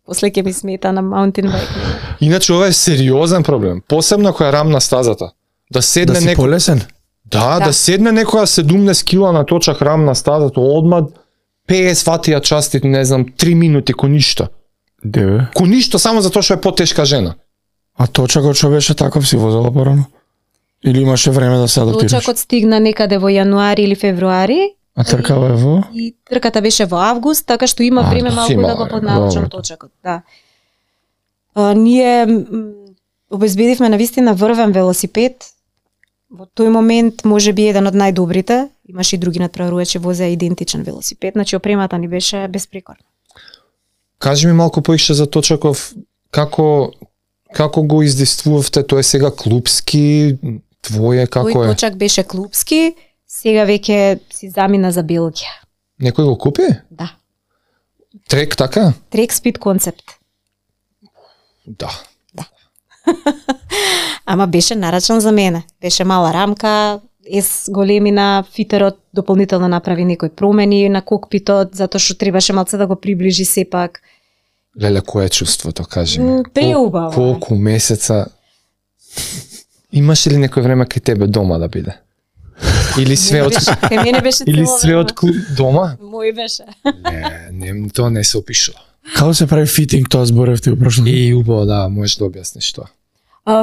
После ќе ми смета на маунтин байк. Иначе ова е сериозен проблем, посебно која е рамна стазата. Да седне Да си некој, полесен? да, Да. да седне некоја 17 кила на точак рамна стазата, одма 50 вати ја части, не знам, 3 минути ко ништо. Деве. Ко ништо само затоа што е потешка жена. А точакот што беше таков си возела порано? Или имаше време да се адаптираш? Точакот стигна некаде во јануари или февруари А тркава е во? и трката беше во август, така што има време да, малку има да го време, поднаучам добро. точакот, да. Ние обезбедивме навистина врвен велосипед. Во тој момент може би еден од најдобрите. Имаше и други надпреварувачи возеа идентичен велосипед, значи опремата ни беше безпрекорна. Кажи ми малку поише за точаков, како го издействувавте, тоа е сега клубски, твое, како Тој е? точак беше клубски, сега веќе си замина за Белгија. Некој го купи? Да. Трек така? Трек спид концепт. Да. Ама беше нарачан за мене. Беше мала рамка, големина, фитерот дополнително направи некои промени на кокпитот, затоа што требаше малце да го приближи сепак. Леле, кое е чувството, кажи ми? Преубаво. Колку месеца имаше ли некој време кај тебе дома да биде? Или све од Кај мене беше или цело све време. од клуб дома? Мој беше. Не, тоа не се опишува. Како се прави фитинг, тоа зборевте у прошлото? И убаво, да, можеш да објасниш тоа.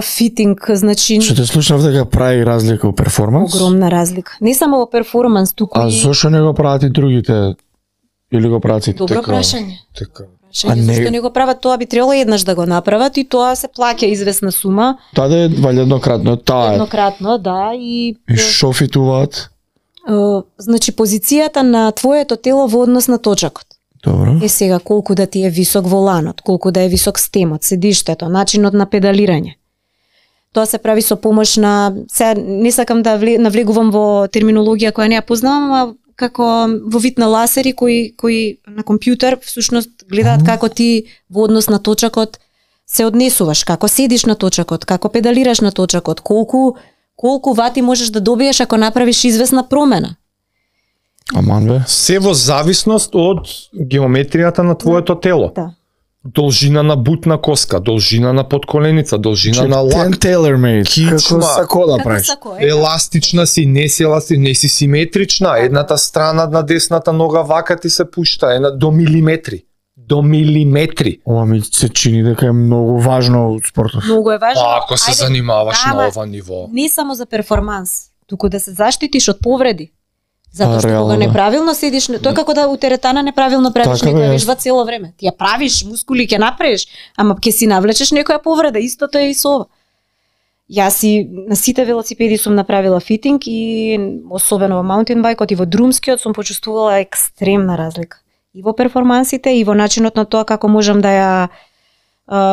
Фитинг, значи Што те слушнав дека прави разлика у перформанс? огромна разлика. Не само во перформанс, туку А и зошто не го прават и другите? Или го прават и добро така? прашање. Така. А не- Зашто не го прават тоа, би требало еднаш да го направат и тоа се плаќа известна сума, Тоа да е валја еднократно, таа е. еднократно, да, И шо фитуваат? значи позицијата на твоето тело во однос на точакот. Добро. Е сега колку да ти е висок воланот, колку да е висок стемот, седиштето, начинот на педалирање. Тоа се прави со помош на, сега не сакам да навлегувам во терминологија која не ја познавам, а како во вид на ласери кои на компјутер всушност гледаат како ти во однос на точакот се однесуваш, како седиш на точакот, како педалираш на точакот, колку вати можеш да добиеш ако направиш известна промена. Аман бе. Се во зависност од геометријата на твоето тело. Да. Должина на бутна коска, должина на подколеница, должина на лак, tailor made. Кичма. Како сако да правиш. еластична си, не си симетрична, едната страна на десната нога вака ти се пушта, до милиметри. До милиметри. Ова ми се чини дека е многу важно од спортот. Многу е важно. Ако се занимаваш на ова ниво. Не само за перформанс, туку да се заштитиш од повреди. Затоа што реално, кога да. неправилно седиш, тоа како да у теретана неправилно правиш Така, некоја бе, вежба цело време. Ти ја правиш, мускули ќе направиш, ама ќе си навлечеш некоја повреда, истото е и со ова. Јас си на сите велосипеди сум направила фитинг и особено во маунтинбајкот и во друмскиот сум почувствувала екстремна разлика. И во перформансите и во начинот на тоа како можам да ја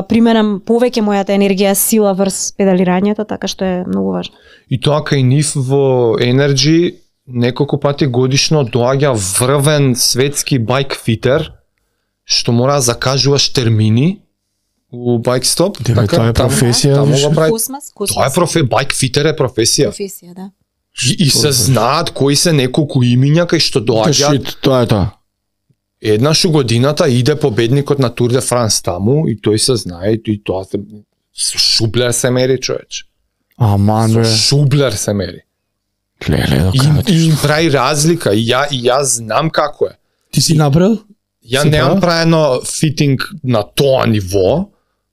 применам повеќе мојата енергија, сила врз педалирањето, така што е многу важно. И тоа кај нив во Energy неколку пати годишно доаѓа врвен светски байк фитер, што мора да закажуваш термини у байк стоп. Дека тоа е професија, Таму више. го прави. Космас. Тоа е байк фитер е професија. Професија, да. И се знаат кои се неколку имиња кај што доаѓаат. Тоа е тоа. Еднаш у годината иде победникот на Тур де Франс таму и тој се знае и тоа се Шублер се мери, човече. Аман бе. Шублер се мери. Леле, И прави разлика и јас знам како е. Ти си направил? Ја Си немам правил? праено фитинг на тоа ниво,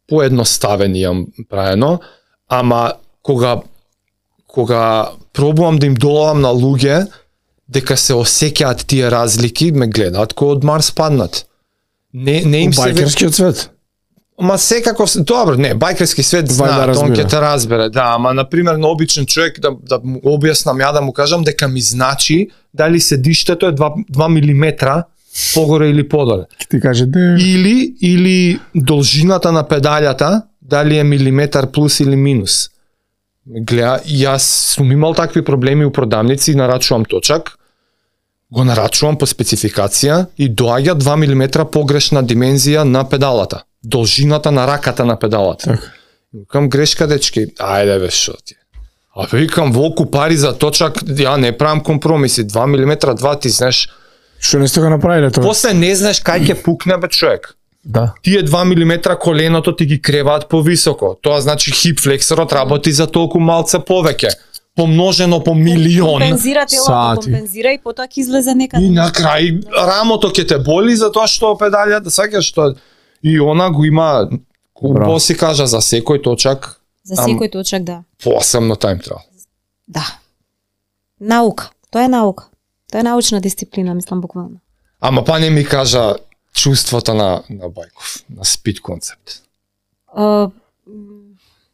поедноставен јам праено, ама кога пробувам да им доловам на луѓе, дека се осеќаат тие разлики, ме гледаат кој од Марс паднат. Не им се Байкерскиот свет. Ма секако, добро, не, бајкерски свет знаат, он ќе те разбере, да, ама на пример на обичен човек да му објаснам ја да му кажам дека ми значи дали седиштето е 2 милиметра погоре или подоле. Ќе ти каже де. Или должината на педалјата дали е милиметар плюс или минус. Гледа, јас сум имал такви проблеми у продавници, нарачувам точак, го нарачувам по спецификација и доаѓа 2 милиметра погрешна димензија на педалата. Должината на раката на педалата. Така. Викам грешка дечки, ајде бе шо ти. А викам волку пари за точак, ја не правам компромиси, 2 милиметра, 2 ти знаеш. Што не сте го направиле тоа? После не знаеш кај ќе пукне бе човек. Да. Тие 2 милиметра коленото ти ги креваат повисоко. Тоа значи хип флексорот работи за толку малце повеќе. Помножено по милион. Компензира телото, сати. компензира и потоа ќе излезе некаде. И на крај рамото ќе те боли за тоа што педалјата, сакаш што и она го има Браво. си кажа за секој точак. За секој точак, да. Посебно тайм трал. Да. Наука. Тоа е наука. Тоа е научна дисциплина, мислам буквално. Ама па не ми кажа чувството на Бајков, на спид концепт.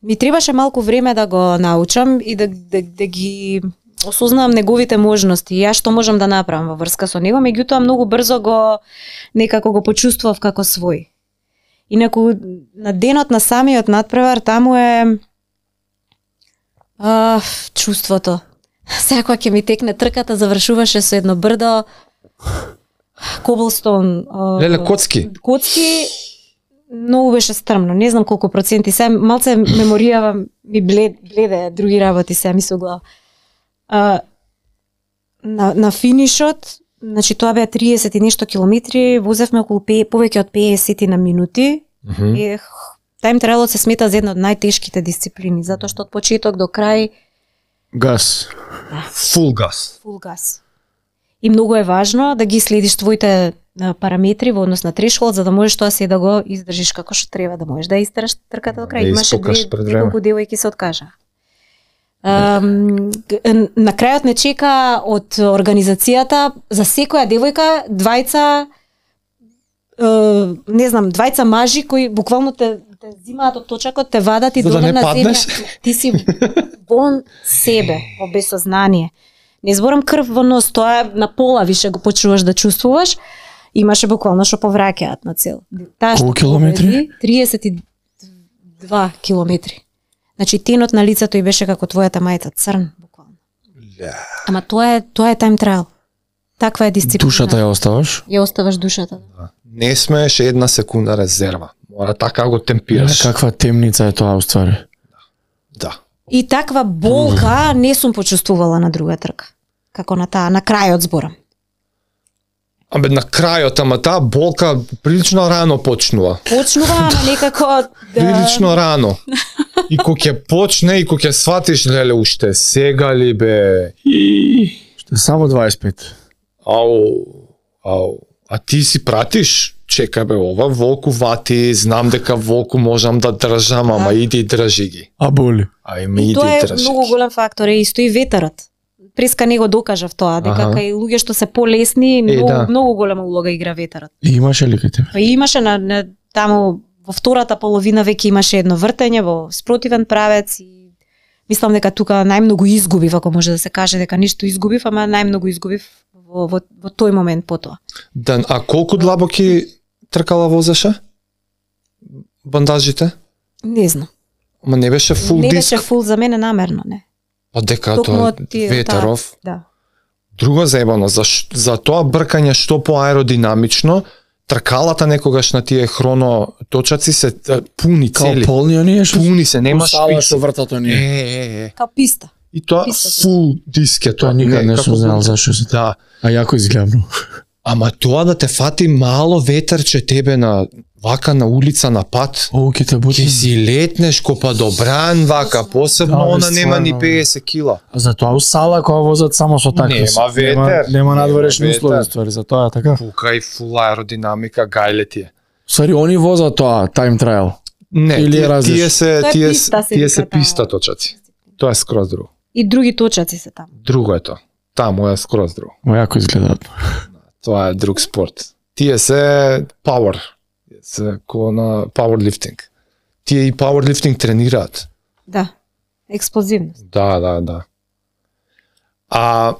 Ми требаше малку време да го научам и да ги осознавам неговите можности и јас што можам да направам во врска со него, меѓутоа многу брзо некако го почувствував како свој. Инаку на денот на самиот надпревар таму е чувството. Секоја ќе ми текне трката, завршуваше со едно брдо, коблстон, Леле, коцки. Коцки, многу беше стрмно, не знам колку проценти, сега малце меморијава ми бледе други работи сега ми се глава. На финишот, значи тоа беа 30 и нешто километри, возевме околу повеќе од 50 на минути. Тајм трајлот се смета за една од најтешките дисциплини, затоа што од почеток до крај Газ. Фул газ. фул газ. И многу е важно да ги следиш твоите параметри во однос на трешхолд, за да можеш тоа се да го издржиш како што треба, да можеш да истераш трката до крај. Да Имаше испокаш пред време. неколку девојки се откажа. На крајот не чека од организацијата за секоја девојка двајца мажи кои буквално те зимаат од точакот, те вадат и За да доле не на земја. паднеш? Ти си вон себе, во безсознание. Не зборам крв во нос, тоа е на пола више го почуваш да чувствуваш. Имаше буквално што повраќаат на цел. Таа што Колку километри? победи, 32 километри. Значи тенот на лицето и беше како твојата мајца, црн буквално. Ама тоа е тайм трайл. Таква е дисциплина. Душата ја оставаш? Ја оставаш душата. Не смееш една секунда резерва. Мора така го темпираш. Каква темница е тоа уствари. Да. И таква болка не сум почувствувала на друга трка. Како на таа, на крајот зборам. Абе, на крајот, ама таа болка прилично рано почнува. Почнува, ама некако Прилично рано. И кога ќе почне, и кога ќе сватиш, леле, уште сега ли бе? Што само 25. Ау. А ти си пратиш? Чекај бе, ова волку вати, знам дека волку можам да држам, ама иди и држи ги. А боли. Ајме И иди тоа и е држи многу ги. голем фактор, и исто и ветерот. Преска не го докажав тоа, дека Аха. кај луѓе што се полесни, да. многу голема улога игра ветерот. И имаше ли кај тебе? Па имаше на таму во втората половина веќе имаше едно вртење во спротивен правец и мислам дека тука најмногу изгубив, ако може да се каже дека ништо изгубив, ама најмногу изгубив во тој момент потоа. Да, а колку длабоки тркала возеше? Бандажите? Не знам. Ама не беше фул Не диск? беше фул за мене намерно, не. Па дека Токму тоа од тие, ветеров. Да. Друго заебано, за тоа бркање што поаеродинамично, тркалата некогаш на тие хроно точаци се пуни Као цели. полни оние што Пуни се, нема Сала што шпици. вртат оние. Као писта. И тоа Писта се. фул диск е тоа никад не сум знал зашо се. Да. А јако изгледам. Ама тоа да те фати мало ветерче тебе на вака на улица на пат, О, ќе те бути. ќе си летнеш ко падобран вака, посебно Да, бе, она нема ни стварно. 50 кила. А затоа у сала кога возат само со такви. Нема ветер. Нема надворешни Нема услови, ветер. ствари, затоа е така. Пука и фул аеродинамика, гајле ти е. Сари, они возат тоа, time trial. Не, Или е различно? тие се Тоа е тие писта, се тие вика се таа. писта точаци. Тоа е скроз друго. И други точаци се таму. Друго е тоа. Таму е скроз друго. Мо јако изгледаат. Тоа е друг спорт. Тие се power. Се ко на powerlifting. Тие и powerlifting тренираат. Да. Експлозивност. Да. А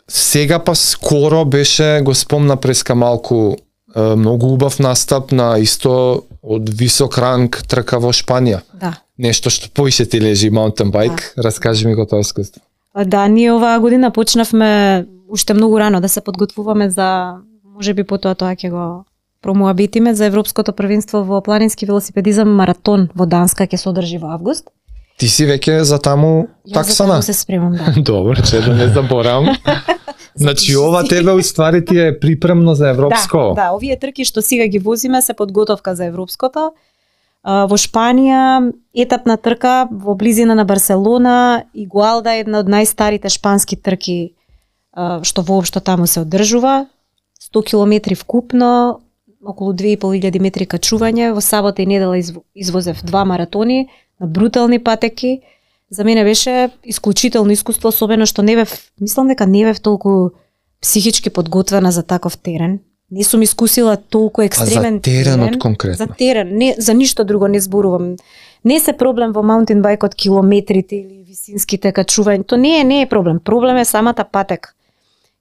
сега па скоро беше, го спомна преска малку, многу убав настап на исто од висок ранг трка во Шпанија. Да. Нешто што поише ти лежи маунтен байк, раскажи ми го тоа искуство. Да, ние оваа година почнавме уште многу рано да се подготвуваме за, можеби потоа тоа ќе го промоабитиме за Европското првенство во планински велосипедизам маратон во Данска ќе се одржи во август. Ти си веќе за таму Јас за таксана? таму се спремам, да. Добро, че да не заборавам. Значи ова тебе уствари ти е припремно за европско. Да, овие трки што сега ги возиме се подготовка за европското. Во Шпанија етапна трка во близина на Барселона, Игуалда е една од најстарите шпански трки што воопшто таму се одржува. 100 километри вкупно, околу 2500 метри качување. Во сабота и недела извозев 2 маратони на брутални патеки. За мене беше исклучително искуство, особено што не бев, мислам дека не бев толку психички подготвена за таков терен. Не сум искусила толку екстремен за теренот конкретно? За терен, не, за ништо друго не зборувам. Не се проблем во маунтин байкот километрите или висинските качувања, то не е проблем. Проблем е самата патека.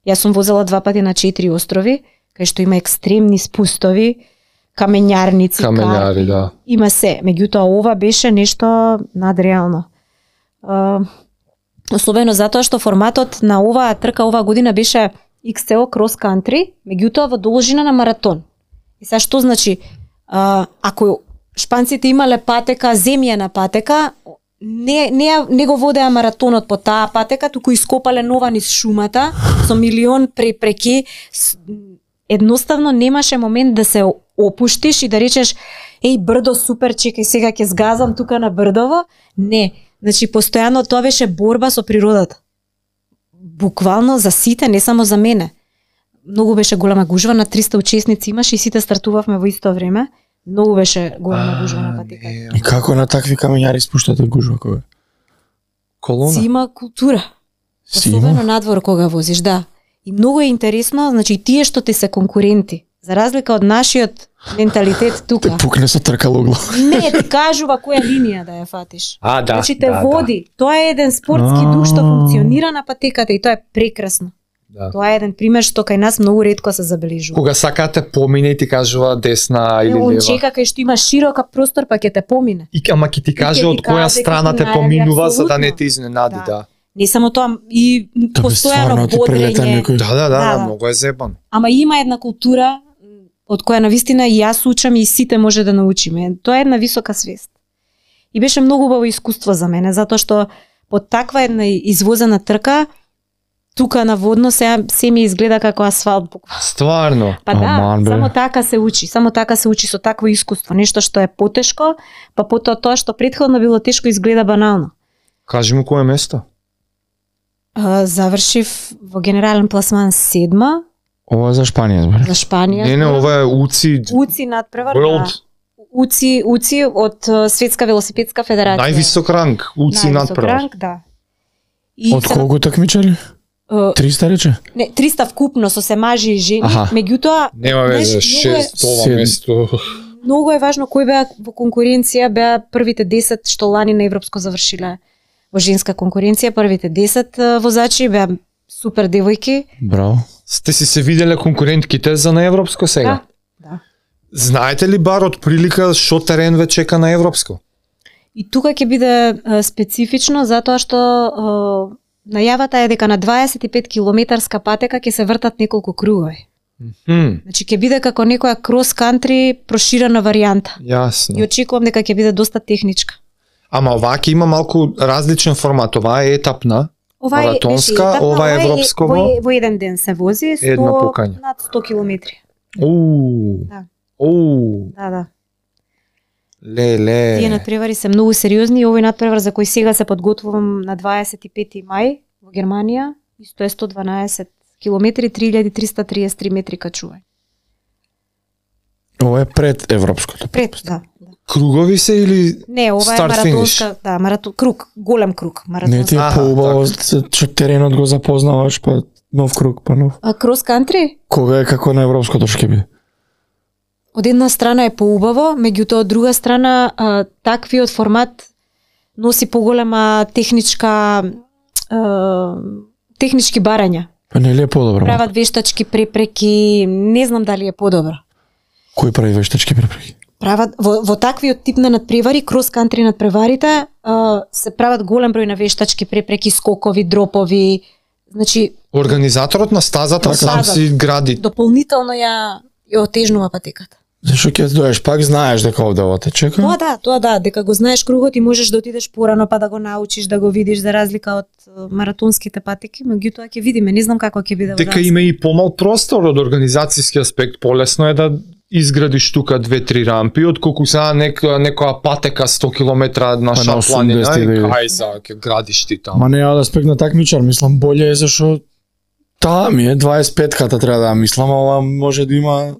Јас сум возела 2 пати на 4 острови, кај што има екстремни спустови, камењарници, Камењари, да. Има се, меѓутоа ова беше нешто надреално. Особено затоа што форматот на оваа трка оваа година беше XCO Cross Country, меѓутоа во должина на маратон. И сега што значи, ако шпанците имале патека, земјена патека, не го водеа маратонот по таа патека, туку ископале нова низ шумата со милион препреки. Едноставно немаше момент да се опуштиш и да речеш еј брдо супер, чекај сега ќе сгазам тука на брдово. Не, значи постојано тоа беше борба со природата. Буквално за сите, не само за мене. Многу беше голема гужва, на 300 учесници имаше и сите стартувавме во исто време. Многу беше голема гужва на патеката. И како на такви камењари спуштате гужва кога? Колона? Си има култура. Си Особено има? надвор кога возиш, да. И многу е интересно, значи тие што ти се конкуренти, за разлика од нашиот менталитет Те тука. пукне со тркалогло. Не, ти кажува која линија да ја фатиш. А, да. Значи те води. Тоа е еден спортски дух што функционира на патеката и тоа е прекрасно. Да. Тоа е еден пример што кај нас многу ретко се забележува. Кога сакате помине и ти кажува десна или Он лева. чека кај што има широка простор па ќе те помине. И ама ќе ти каже ќе од ти која каже страна како те најави, поминува за да не апсолутно. те изненади, Да. да. Не само тоа, и Да бе, стварно постојано ти прилета бодрење. некој. Да, Да. многу е зебан. Ама има една култура, од која навистина и јас учам и сите може да научиме. Тоа е една висока свест. И беше многу убаво искуство за мене, затоа што под таква една извозена трка, тука на водно се ми изгледа како асфалт буквално. Стварно. Па да, Аман, бе. само така се учи со такво искуство, нешто што е потешко, па потоа тоа што претходно било тешко изгледа банално. Кажи му кое место? Завршив во генерален пласман 7-ма, Ова е за Шпанија, збориш. за Шпанија. Не, ова е УЦИ надпревар. World. УЦИ од Светска велосипедска федерација. Највисок ранг, УЦИ Највисок надпревар. ранг, да. И Од колку такмичари? 300 рече? Не, 300 вкупно со се мажи и жени, Аха. меѓутоа Нема везе, знаеш, многу е- 6 Седм. место. многу е важно кој беа во конкуренција, беа првите 10 што лани на европско завршиле во женска конкуренција, првите 10 возачи беа супер девојки. Браво. Сте си се виделе конкурентките за на европско сега? Да. Знаете ли бар од прилика што терен ве чека на европско? И тука ќе биде специфично затоа што најавата е дека на 25 километарска патека ќе се вртат неколку кругови. Значи ќе биде како некоја крос-кантри проширена варијанта. И Јасно. очекувам дека ќе биде доста техничка. Ама оваа ќе има малку различен формат. Оваа е етапна, Ова маратонска, беше етапна, ова е европско во еден ден се вози, 100, Едно пукање. над 100 километри. Да. Да. Леле. Тие надпревари се многу сериозни и овој надпревар за кој сега се подготвувам на 25 мај во Германија, исто е 112 километри, 3333 метри качување. Ова е пред европското. Пред, да. Кругови се или Не, ова е Старт, маратонска, круг, голем круг, Не маратонска. ти е Аха, поубаво што теренот го запознаваш, па нов круг, па нов. А крос кантри? Кога е како на европското што ќе биде? Од една страна е поубаво, меѓутоа од друга страна таквиот формат носи поголема технички барања. Па не ли е подобро? Прават вештачки препреки, не знам дали е подобро. Кој прави вештачки препреки? Прават во таквиот тип на надпревари, крос кантри надпреварите, се прават голем број на вештачки препреки, скокови, дропови. Значи, организаторот на стазата сам Стазата. си гради? дополнително ја отежнува патеката. Зашо ќе доеш пак знаеш дека овде ова те чека? Тоа да, дека го знаеш кругот и можеш да отидеш порано па да го научиш, да го видиш за разлика од маратонските патеки, меѓутоа ќе видиме, не знам како ќе биде во Дека има и помал простор од организацијски аспект, полесно е да изградиш тука 2-3 рампи, отколку сега некоја патека 100 километра на Па на планина 80 и да кај за ќе градиш ти таму. Ма не ја да аспект на такмичар, мислам боле е зашо таа ми е 25-ката треба да ја мислам, а ова може да има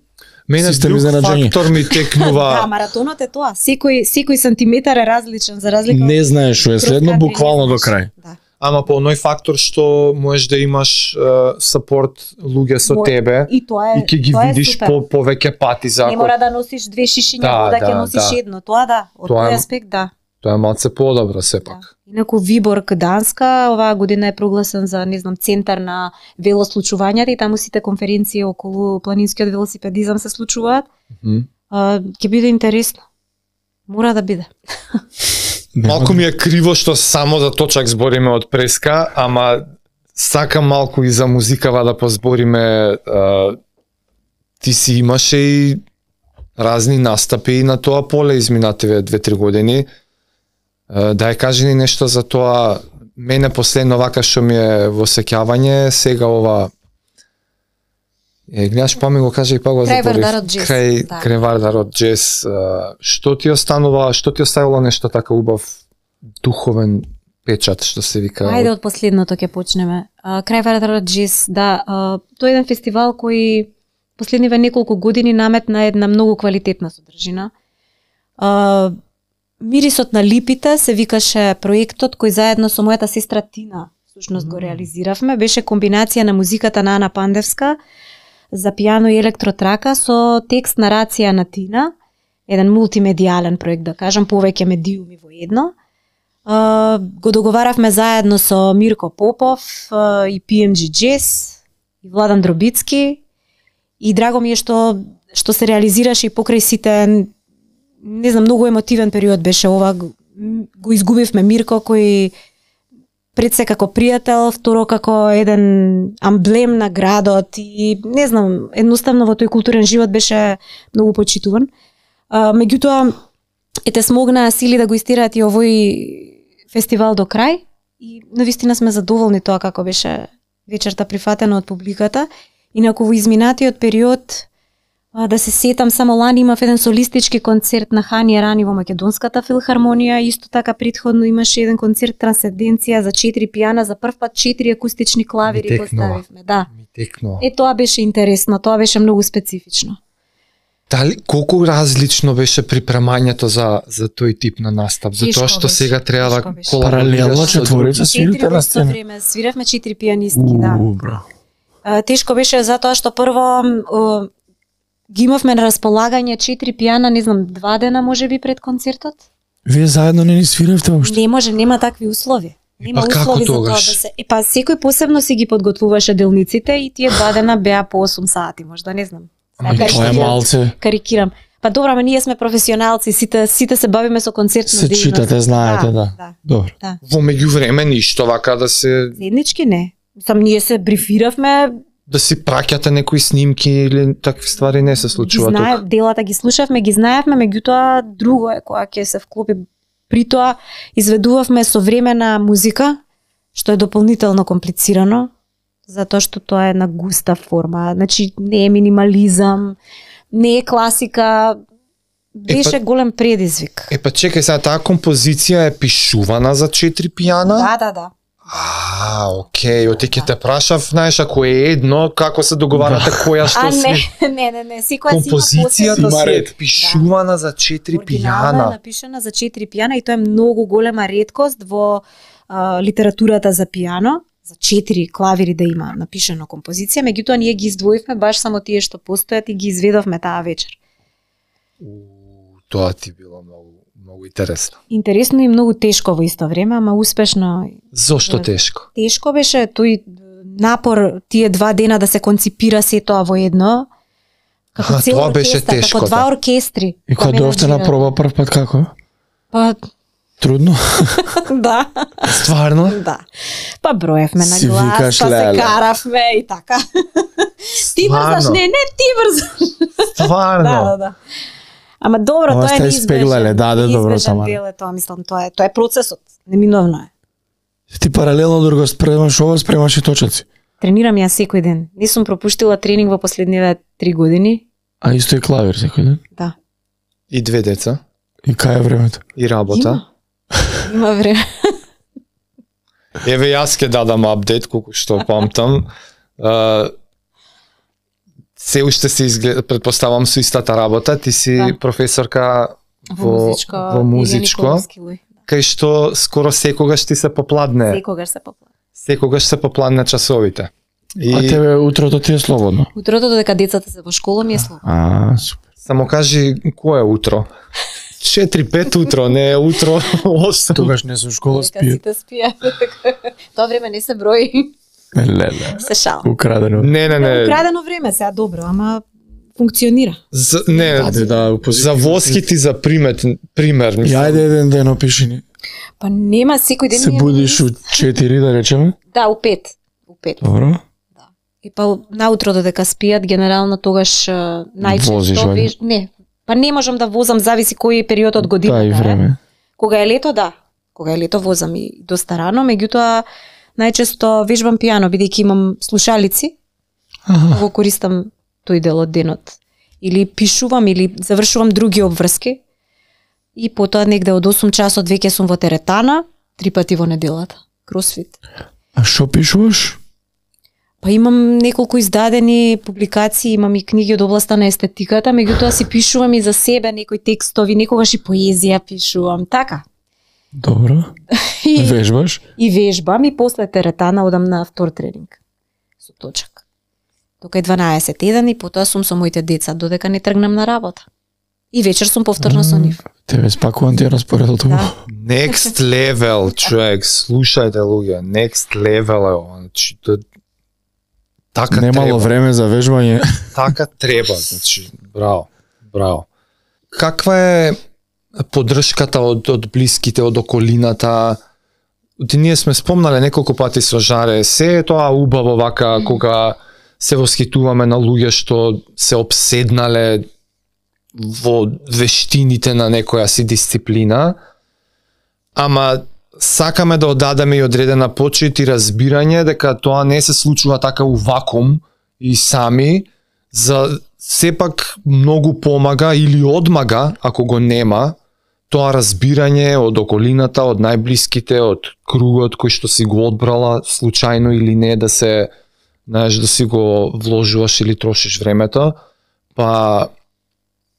Мене систем друг изненаđenje. фактор ми Да, текнува. маратонот е тоа. Секој сантиметар е различен за разлика од не знаеш што е следно крос-кантри, буквално не до знаеш. крај. Да. Ама по оној фактор што можеш да имаш сапорт луѓе со Мо- тебе И тоа е и ќе ги тоа е видиш супер. повеќе пати за Не мора да носиш две шишиња Да, вода, ќе да, носиш да. едно. Тоа да, од Тоа е- тој аспект да. Тоа е малце подобро сепак. Да. Инаку Виборг Данска оваа година е прогласен за, не знам, центар на велослучувањата и таму сите конференции околу планинскиот велосипедизам се случуваат. Мгм. Ќе биде интересно. Мора да биде. Малку ми е криво што само за точак збориме од преска, ама сакам малку и за музикава да позбориме. Ти си имаше и разни настапи на тоа поле изминативе 2-3 години. Дај кажи ни нешто за тоа. Мене последно вака што ми е во сеќавање, сега ова гледаш па ми го кажа и па го Крај заборив. Вардарот джез, да. Крај Вардарот джез. Што ти останува, што ти оставило нешто така убав духовен печат што се вика? Ајде од последното ќе почнеме. Крај Вардарот джез, да, тоа е еден фестивал кој последниве неколку години наметна една многу квалитетна содржина. Мирисот на липите се викаше проектот кој заедно со мојата сестра Тина всушност го реализиравме. Беше комбинација на музиката на Ана Пандевска за пијано и електротрака со текст нарација на Тина, еден мултимедијален проект, да кажам, повеќе медиуми во едно. Го договаравме заедно со Мирко Попов и PMG Jazz и Владан Дробицки и драго ми е што се реализираше и покрај сите, не знам, многу емотивен период беше ова. Го изгубивме Мирко кој пред се како пријател, второ како еден амблем на градот и не знам, едноставно во тој културен живот беше многу почитуван. Меѓутоа, ете смогнаа сили да го истираат и овој фестивал до крај и навистина сме задоволни тоа како беше вечерта прифатена од публиката. Инаку во изминатиот период, да се сетам, само лани имав еден солистички концерт на Хани Ерани во Македонската филхармонија, исто така претходно имаше еден концерт Трансценденција за 4 пијана, за прв пат 4 акустични клавири поставивме. Да. Ми текнува. Тоа беше интересно, тоа беше многу специфично. Дали колку различно беше припремањето за тој тип на настап? Затоа што сега треба да паралелно четворица свирите на сцена. Време свиравме 4 пијанистки, да. Тешко беше затоа што прво ги имавме на располагање 4 пијана, не знам, 2 дена можеби пред концертот. Вие заедно не ни свиравте воопшто? Не може, нема такви услови. Нема услови за тоа да се. Па секој посебно си ги подготвуваше делниците и тие 2 дена беа по 8 сати, можда не знам. Тоа е малце. Карикирам. Па добро, ама ние сме професионалци, сите се бавиме со концертна дејност. Се читате, знаете, да. Добро. Да. Во меѓувреме ништо вака да се заеднички не. Сам ние се брифиравме, да си праќате некои снимки или такви ствари не се случува тука. Делата ги слушавме, ги знаевме, меѓутоа друго е кога ќе се вклопи. При тоа изведувавме современа музика, што е дополнително комплицирано, затоа што тоа е на густа форма. Значи не е минимализам, не е класика, беше голем предизвик. Па чекај сега, таа композиција е пишувана за 4 пијана? Да. Окей, оти ќе те прашав, знаеш, ако е едно, како се договарате која што си? Не, секоја си има композицијата се пишувана за 4 пијана. Оригинална е напишана за 4 пијана и тоа е многу голема реткост во литературата за пијано, за 4 клавири да има напишано композиција, меѓутоа ние ги издвоивме баш само тие што постојат и ги изведовме таа вечер. Тоа ти било многу интересно. Интересно и многу тешко во исто време, ама успешно. Зошто тешко? Тешко беше тој напор тие 2 дена да се конципира се тоа во едно. Како цел тоа беше оркестар, тешко. како 2 оркестри. И кога дојавте на проба прв пат како? Па трудно. Да. Стварно? Да. Па броевме на глас, па се каравме и така. Ти брзаш, не, ти брзаш. Стварно? Да. Ама добро, тоа е неизбежен. Добро, Тамара. Дел е тоа, мислам, тоа е процесот, неминовно е. Ти паралелно друго спремаш ова, спремаш и точаци. Тренирам ја секој ден. Не сум пропуштила тренинг во последниве 3 години. А исто и клавир секој ден? Да. И 2 деца? И кај е времето? И работа? Има време. Еве јас ќе дадам апдейт колку што памтам. Се уште се изгледа, предпоставам со истата работа, ти си професорка во музичко, кај што скоро секогаш ти се попладне. Секогаш се попладне часовите. А тебе утрото ти е слободно? Утрото додека децата се во школа ми е слободно. Супер. Само кажи кое е утро? 4-5 утро, не е утро 8. Тогаш не со школа спијат. Сите спијат. Тоа време не се брои. Леле. Се шал. Украдено. Не. Украдено време, сега добро, ама функционира. За воските за пример, мислам. Јајде еден ден опиши ни. Па нема секој ден. Се будиш у 4 да речеме? Да, у 5. Добро. Да. И па наутро додека спијат генерално тогаш најчесто не. Па не можам да возам, зависи кој е период од годината. Да, и време. Кога е лето, да. Кога е лето возам и доста рано, меѓутоа најчесто вежбам пијано бидејќи имам слушалици. Го користам тој дел од денот. Или пишувам или завршувам други обврски. И потоа негде од 8 часот веќе сум во теретана, 3 пати во неделата. Кросфит. А што пишуваш? Па имам неколку издадени публикации, имам и книги од областа на естетиката, меѓутоа си пишувам и за себе некои текстови, некогаш и поезија пишувам, така. Добро. И вежбаш? И вежбам и после теретана одам на втор тренинг. Со точак. Тока е 12:01 и потоа сум со моите деца додека не тргнам на работа. И вечер сум повторно со нив. Тебе спакувам ти распоредот тоа. Да. Next level, човек, слушајте луѓе, next level е ова. Значи, така немало треба. Време за вежбање. Така треба, значи, браво. Каква е поддршката од блиските, од околината? ние сме спомнале неколку пати со Жаре, се е тоа убаво вака кога се восхитуваме на луѓе што се обседнале во вештините на некоја си дисциплина, ама сакаме да одадеме и одредена почит и разбирање дека тоа не се случува така у вакуум и сами, за сепак многу помага или одмага, ако го нема, тоа разбирање од околината, од најблиските, од кругот кој што си го одбрала, случајно или не, да се, знаеш, да си го вложуваш или трошиш времето, па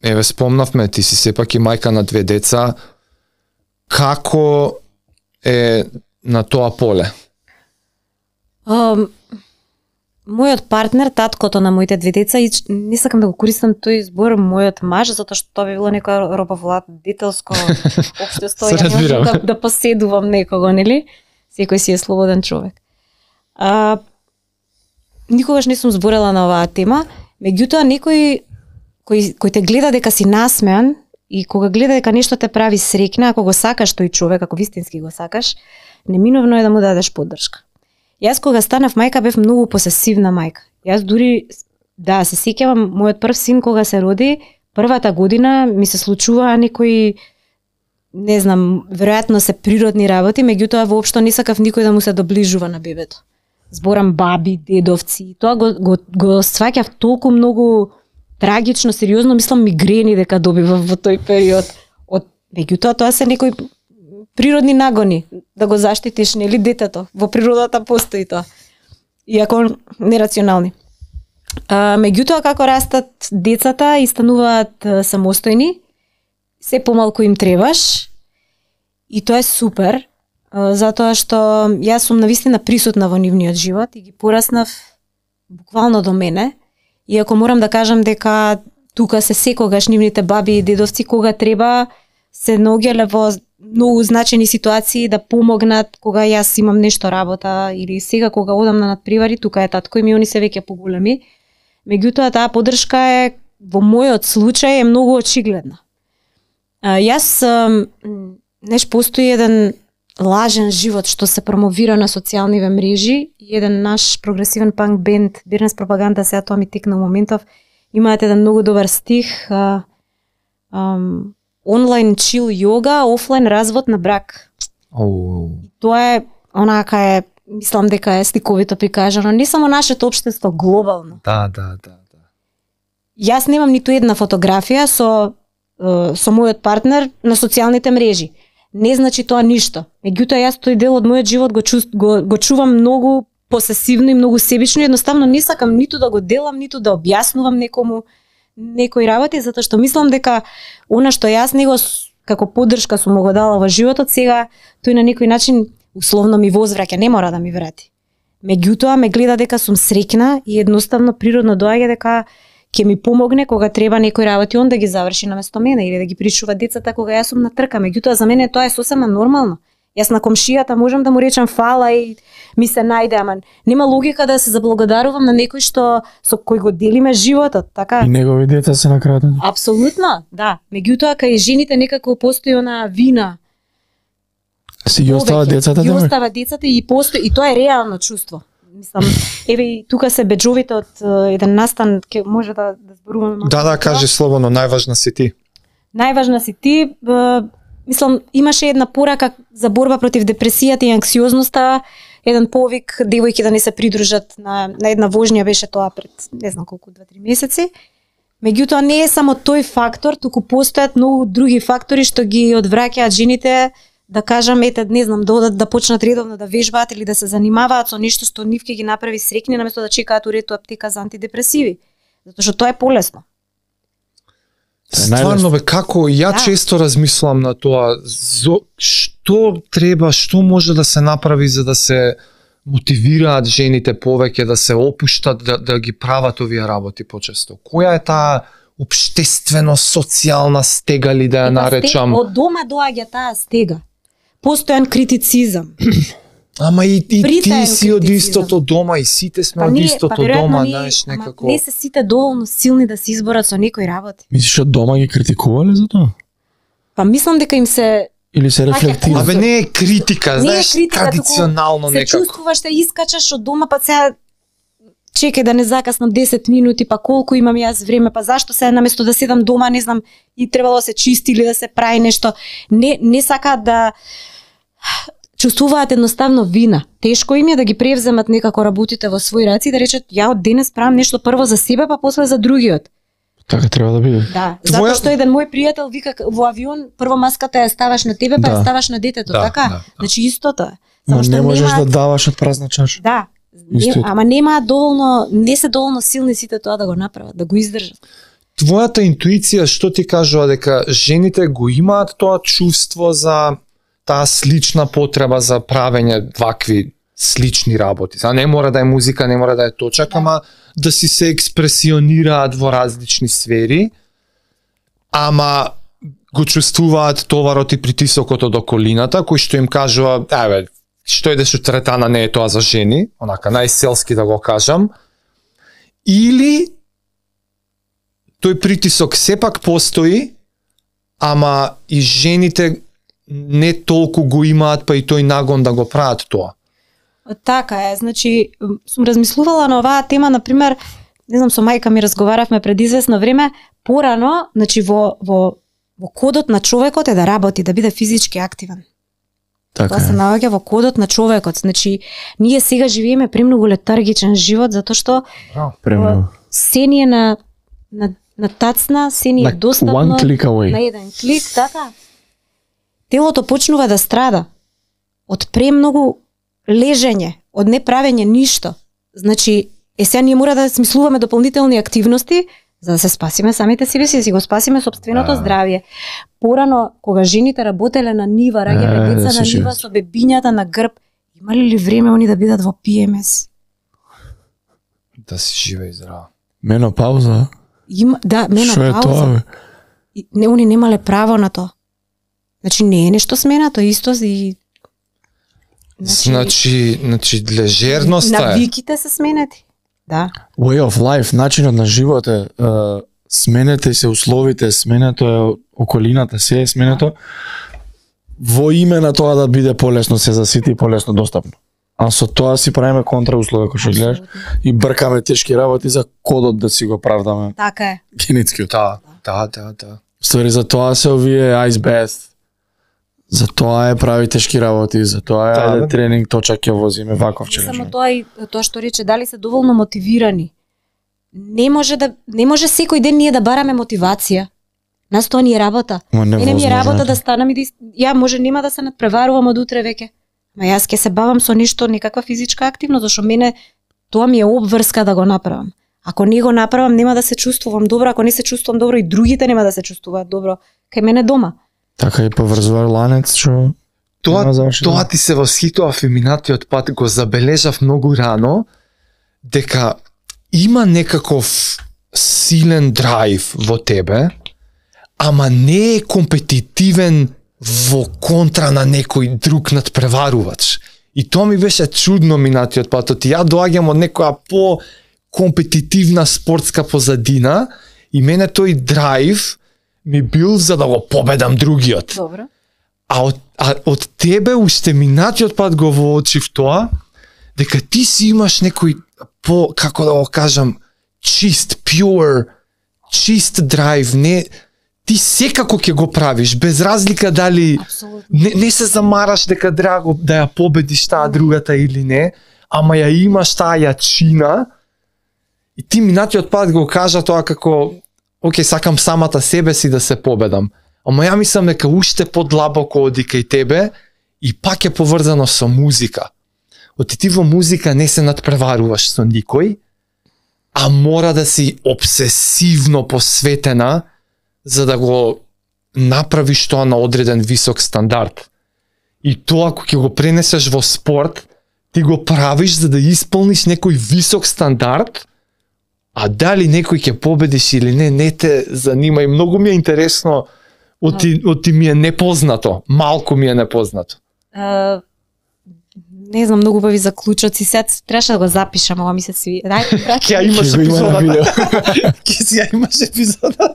еве спомнавме, ти си сепак и мајка на 2 деца, како е на тоа поле? Мојот партнер, таткото на моите 2 деца, и не сакам да го користам тој збор мојот маж, затоа што тоа би било некоја робовладетелско општество, ја не можам да поседувам некого, нели? Секој си е слободен човек. Никогаш не сум зборела на оваа тема, меѓутоа некој кој те гледа дека си насмеан и кога гледа дека нешто те прави среќна, ако го сакаш тој човек, ако вистински го сакаш, неминовно е да му дадеш поддршка. Јас кога станав мајка бев многу посесивна мајка. Јас дури, да, се сеќавам, мојот прв син кога се роди, првата година ми се случуваа некои, не знам, веројатно се природни работи, меѓутоа воопшто не сакав никој да му се доближува на бебето. Зборам баби, дедовци, тоа го сваќав толку многу трагично, сериозно, мислам мигрени дека добивав во тој период. Меѓутоа тоа се некои природни нагони, да го заштитиш, нели, детето. Во природата постои тоа. Иако нерационални. Меѓутоа, како растат децата и стануваат самостојни, се помалку им требаш и тоа е супер, затоа што јас сум навистина присутна во нивниот живот и ги пораснав буквално до мене. Иако морам да кажам дека тука се секогаш нивните баби и дедовци кога треба се наоѓале во многу значени ситуации да помогнат кога јас имам нешто работа или сега кога одам на надпревари, тука е татко и ми, они се веќе поголеми. Меѓутоа таа поддршка е во мојот случај е многу очигледна. Јас постои еден лажен живот што се промовира на социјалниве мрежи и еден наш прогресивен панк бенд Бирнес Пропаганда, сега тоа ми текна моментов, имаат еден многу добар стих, онлайн чил јога, офлайн развод на брак. И тоа е, онака е, мислам дека е стиковито прикажано, не само нашето општество, глобално. Да. Јас немам ниту една фотографија со мојот партнер на социјалните мрежи. Не значи тоа ништо. Меѓутоа јас тој дел од мојот живот го чувам многу посесивно и многу себично, едноставно не сакам ниту да го делам, ниту да објаснувам некому некои работи, затоа што мислам дека она што јас него како поддршка сум го дала во животот, сега тој на некој начин условно ми возвраќа, не мора да ми врати. Меѓутоа ме гледа дека сум среќна и едноставно природно доаѓа дека ќе ми помогне кога треба некои работи он да ги заврши наместо мене или да ги пришува децата кога јас сум на трка. Меѓутоа за мене тоа е сосема нормално. Јас на комшијата можам да му речам фала и ми се најде, ама нема логика да се заблагодарувам на некој што со кој го делиме животот, така? И негови деца се накрадени. Апсолутно, да. Меѓутоа кај жените некако постои она вина. Си ги остава децата, ги остава децата и постои, и тоа е реално чувство. Мислам, еве и тука се беџовите од еден настан, ке може да зборуваме. Да, кажи слободно, најважна си ти. Најважна си ти, мислам, имаше една порака за борба против депресијата и анксиозноста, еден повик девојки да не се придружат на една вожња, беше тоа пред не знам колку 2-3 месеци. Меѓутоа не е само тој фактор, туку постојат многу други фактори што ги одвраќаат жените, да кажам, ете, не знам, да почнат редовно да вежбаат или да се занимаваат со нешто што нив ќе ги направи среќни, наместо да чекаат уред аптека за антидепресиви. Затоа што тоа е полесно. Стварно бе, како често размислувам на тоа, што треба, што може да се направи за да се мотивираат жените повеќе, да се опуштат, да ги прават овие работи почесто. Која е таа општествено социјална стега ли да ја наречам? Од дома доаѓа таа стега. Постојан критицизам. Ама и ти си од истото дома, и сите сме од истото дома, знаеш, некако. Не се сите доволно силни да се изборат со некои работи. Мислиш од дома ги критикувале за тоа? Па мислам дека им се Или се рефлектира? Абе не е критика, Не е знаеш, критика, традиционално се некако. чувствуваш, те искачаш од дома, па сега чекај да не закаснам 10 минути, па колку имам јас време, па зашто се наместо да седам дома, не знам, и требало да се чисти или да се прави нешто. Не сакаат да чувствуваат едноставно вина. Тешко им е да ги превземат некако работите во своји раци и да речат ја од денес правам нешто прво за себе, па после за другиот. Така треба да биде. Да, затоа што еден мој пријател вика во авион прво маската ја ставаш на тебе, па ја ставаш на детето, така? Значи истото е. Но не можеш да даваш од празна чаша. Да. Ама немаат доволно, не се доволно силни сите тоа да го направат, да го издржат. Твојата интуиција што ти кажува дека жените го имаат тоа чувство за таа слична потреба за правење вакви слични работи. Сега не мора да е музика, не мора да е точак, ама да си се експресионираат во различни сфери, ама го чувствуваат товарот и притисокот од околината, кој што им кажува, еве, што идеш у теретана, не е тоа за жени, онака најселски да го кажам, или тој притисок сепак постои, ама и жените не толку го имаат, па и тој нагон да го прават тоа. Така е, значи сум размислувала на оваа тема, например, не знам, со мајка ми разговаравме пред известно време, порано, значи во кодот на човекот е да работи, да биде физички активен. Така Тоа се наоѓа во кодот на човекот. Значи, ние сега живееме премногу летаргичен живот, затоа што се ни е на тацна, се ни е достапно, one click away. на еден клик, така. Телото почнува да страда од премногу лежење, од неправење ништо. Значи, сега ние мора да смислуваме дополнителни активности за да се спасиме самите себе си, да си го спасиме собственото здравје. Порано, кога жените работеле на нива, раѓале деца на нива со бебињата на грб, имали ли време они да бидат во ПМС? Да си жива и здрава. Менопауза? Да, менопауза. Шо е тоа, бе? Не, они немале право на тоа. Значи, не е нешто сменато, исто и... Значи лежерноста е. Навиките се сменети. Да. Way of life, начинот на живот е, сменете се условите, сменето е околината, се е сменето во име на тоа да биде полесно се за сите и полесно достапно. А со тоа си правиме контрауслови, кој што гледаш, и бркаме тешки работи за кодот да си го правдаме. Така е. Генетскиот. Да. Ствари, за тоа се овие ice bath. За тоа е прави тешки работи, за тоа е тренинг, точак ќе возиме ваков Не само тоа и тоа што рече, дали се доволно мотивирани. Не може секој ден ние да бараме мотивација. Нас тоа ни е работа. Мене ми е работа да станам и ја може нема да се надпреварувам од утре веќе. Ма јас ќе се бавам со нешто, некаква физичка активност, зашто мене тоа ми е обврска да го направам. Ако не го направам, нема да се чувствувам добро, ако не се чувствувам добро и другите нема да се чувствуваат добро кај мене дома. Така и поврзувар ланец, што Тоа ти се восхитува феминатиот пат, го забележав многу рано, дека има некаков силен драйв во тебе, ама не е компетитивен во контра на некој друг надпреварувач. И тоа ми беше чудно минатиот пат, ја доаѓам од некоја по-компетитивна спортска позадина и мене тој драйв ми бил за да го победам другиот. Добро. А од тебе уште минатиот пат го воочив тоа, дека ти си имаш некој како да го кажам, чист драйв, ти секако ќе го правиш, без разлика дали не се замараш дека драго да ја победиш таа другата или не, ама ја имаш таа јачина и ти минатиот пат го кажа тоа како океј, сакам самата себе си да се победам. Ама ја мислам дека уште подлабоко оди кај тебе и пак е поврзано со музика. Ти во музика не се надпреваруваш со никој, а мора да си обсесивно посветена за да го направиш тоа на одреден висок стандард. И тоа ако ќе го пренесеш во спорт, ти го правиш за да исполниш некој висок стандард, а дали некој ќе победиш или не те занима. И многу ми е интересно, оти ми е непознато, малку ми е непознато. Не знам, многу убави заклучоци, сега требаше да го запишам, ова ми се сви. Ќе имаш епизода. Ќе си ја имаш епизода.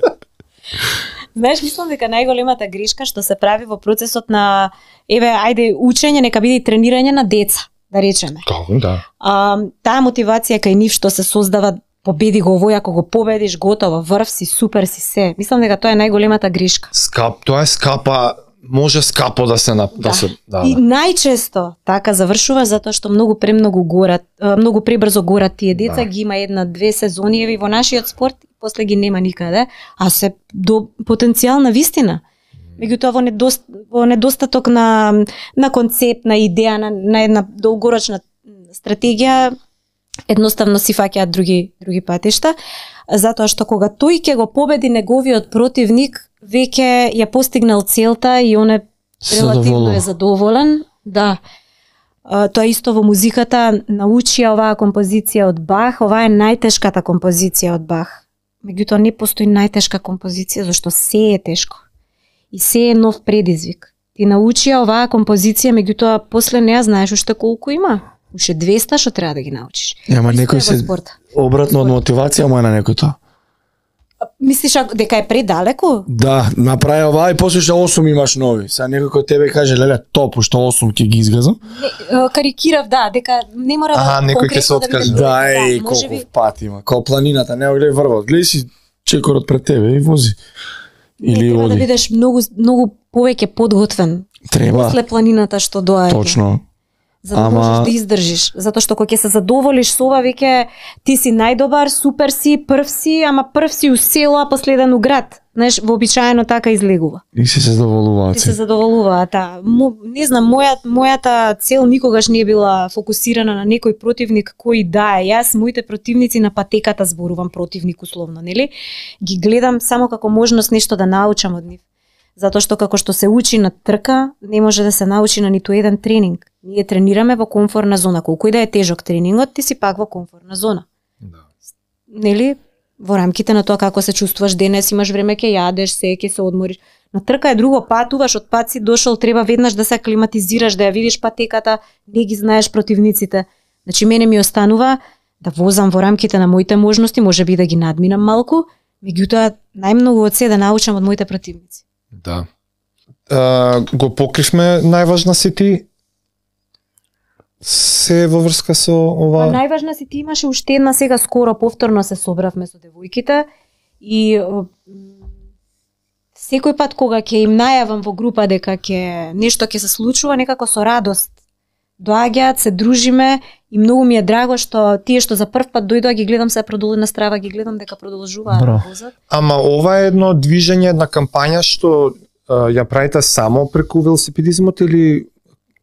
Знаеш, мислам дека најголемата грешка што се прави во процесот на ајде учење, нека биде и тренирање на деца, да речеме. Да. Таа мотивација кај нив што се создава, победи го овој, ако го победиш, готово, врв си, супер си се. Мислам дека тоа е најголемата грешка. Тоа е скапа, може скапо да се И најчесто така завршува затоа што многу пребрзо горат тие деца, ги има 1-2 сезони во нашиот спорт и после ги нема никаде, а се до потенцијална вистина. Меѓутоа во недостаток на концепт, на идеја, на една долгорочна стратегија, едноставно си фаќаат други патишта, затоа што кога тој ќе го победи неговиот противник, веќе ја постигнал целта и он е релативно е задоволен. Да. Тоа исто во музиката, научија оваа композиција од Бах, оваа е најтешката композиција од Бах. Меѓутоа не постои најтешка композиција, зашто се е тешко. И се е нов предизвик. Ти научија оваа композиција, меѓутоа после неа знаеш уште колку има. Уште 200 што треба да ги научиш. Ама некој се обратно од мотивација му е на некој тоа. Мислиш дека е предалеку? Да, направи ова и после што 8 имаш нови. Сега некој кој тебе каже, леле, топ, уште 8 ќе ги изгазам. Карикирав, да, дека не мора да некој ќе се откаже. Да, и колку пат има. Као планината, не гледај врвот. Гледај си чекорот пред тебе и вози. Или треба да бидеш многу повеќе подготвен. Треба. После планината што доаѓа. Точно. За да можеш да издржиш, затоа што кога ќе се задоволиш со ова, веќе ти си најдобар, супер си, прв си, ама прв си у село, а последен у град. Знаеш, вообичаено така излегува. И се задоволуваат. И се задоволуваат, не знам, мојата цел никогаш не е била фокусирана на некој противник кој да е. Јас моите противници на патеката зборувам, противник условно, нели? Ги гледам само како можност нешто да научам од нив. Затоа што како што се учи на трка, не може да се научи на ниту еден тренинг. Ние тренираме во комфортна зона. Колку и да е тежок тренингот, ти си пак во комфортна зона. Да. Нели? Во рамките на тоа како се чувствуваш денес, имаш време ќе јадеш, ќе се одмориш. На трка е друго, патуваш, од пат си дошол, треба веднаш да се аклиматизираш, да ја видиш патеката, не ги знаеш противниците. Значи мене ми останува да возам во рамките на моите можности, можеби да ги надминам малку, меѓутоа најмногу од се да научам од моите противници. Да. Го покривме најважна си ти се во врска со ова? Најважна си ти имаше уште една, сега скоро повторно се собравме со девојките и секој пат кога ќе им најавам во група дека нешто ќе се случува, некако со радост доаѓаат, се дружиме и многу ми е драго што тие што за прв пат дојдоа ги гледам се продолу на страва, ги гледам дека продолжуваат да возат. Ама ова е едно движење, една кампања што ја правите само преку велосипедизмот или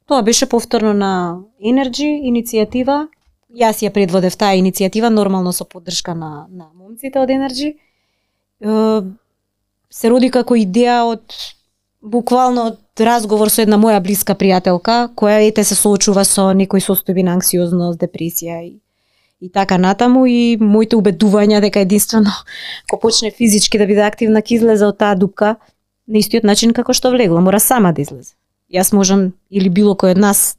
тоа беше повторно на Energy иницијатива. Јас ја предводев таа иницијатива, нормално со поддршка на момците од Energy. Се роди како идеја од буквално од разговор со една моја блиска пријателка, која се соочува со некои состојби на анксиозност, депресија и така натаму, и моите убедувања дека единствено кога почне физички да биде активна ќе излезе од таа дупка на истиот начин како што влегла, мора сама да излезе. Јас можам или било кој од нас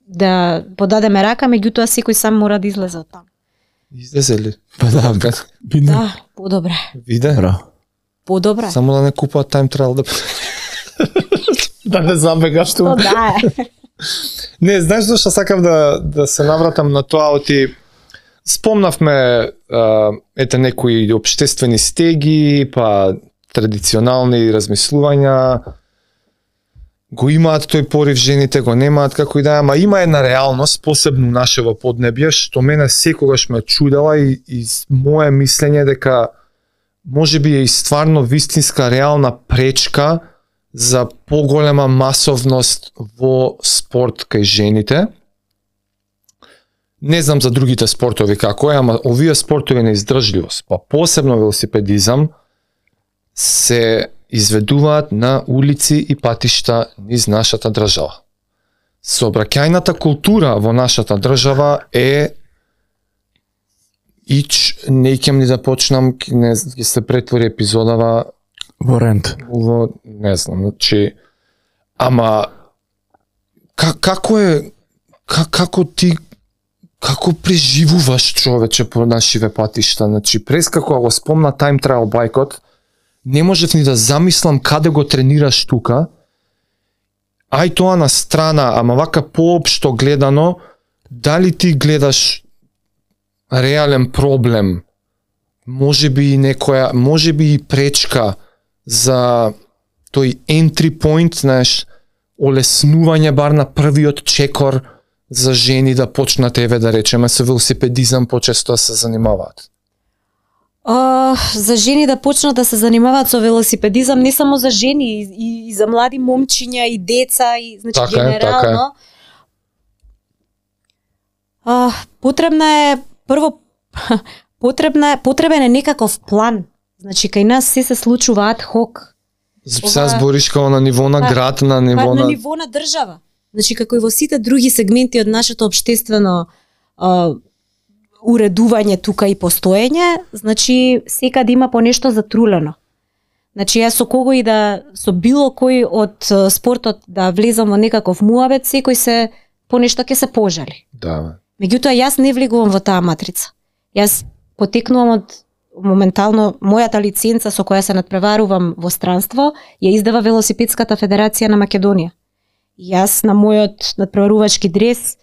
да подадеме рака, меѓутоа секој сам мора да излезе од таму. Излезе ли? Да, подобре. Виде? Подобре. Само да не купуваат time trial да не забегаш тоа. Да. Не, знаеш зашто сакам да се навратам на тоа, оти спомнавме некои општествени стеги, па традиционални размислувања, го имаат тој порив жените, го немаат како и да, ама има една реалност, посебно нашево поднебје, што мене секогаш ме чудела и моje мислење дека можеби е и стварно вистинска реална пречка за поголема масовност во спорт кај жените. Не знам за другите спортови како е, ама овие спортови на издржливост, па посебно велосипедизам, се изведуваат на улици и патишта низ нашата држава. Сообраќајната култура во нашата држава е не ќем ни да почнам, ќе се претвори епизодава во рент. Не знам, значи, ама како преживуваш човече по нашиве патишта, значи прескако го спомна time trial байкот, не можев ни да замислам каде го тренираш тука, ај тоа на страна, ама вака поопшто гледано, дали ти гледаш реален проблем, може би и пречка за тој entry point, знаеш, олеснување бар на првиот чекор за жени да почнат, еве да речеме, со велосипедизам почесто се занимаваат? За жени да почнат да се занимаваат со велосипедизам, не само за жени, и за млади момчиња и деца, и значи така генерално. Потребен е некаков план. Значи кај нас се случува ад хок. Сега збориш као на ниво на град, на ниво на ниво на држава. Значи како и во сите други сегменти од нашето општествено уредување тука и постоење, значи секаде има по нешто затрулено. Значи јас со било кој од спортот да влезам во некаков муабет, секој се по нешто ќе се пожали. Да. Меѓутоа јас не влегувам во таа матрица. Јас потекнувам од моментално мојата лиценца со која се надпреварувам во странство ја издава Велосипедската федерација на Македонија. Јас на мојот надпреварувачки дрес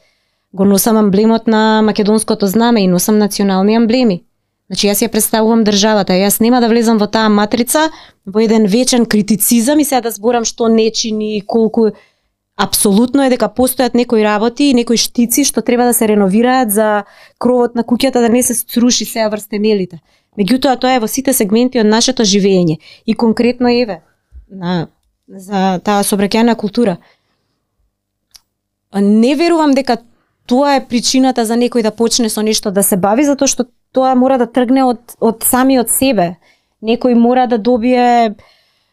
го носам амблемот на македонското знаме и носам национални амблеми. Значи јас ја представувам државата, јас нема да влезам во таа матрица во еден вечен критицизам и сега да зборам што не чини и колку. Апсолутно е дека постојат некои работи и некои штици што треба да се реновираат за кровот на куќата да не се сруши сеа врз темелите. Меѓутоа тоа е во сите сегменти од нашето живење и конкретно еве за таа сообраќајна култура. Не верувам дека тоа е причината за некој да почне со нешто да се бави, затоа што тоа мора да тргне од самиот себе. Некој мора да добие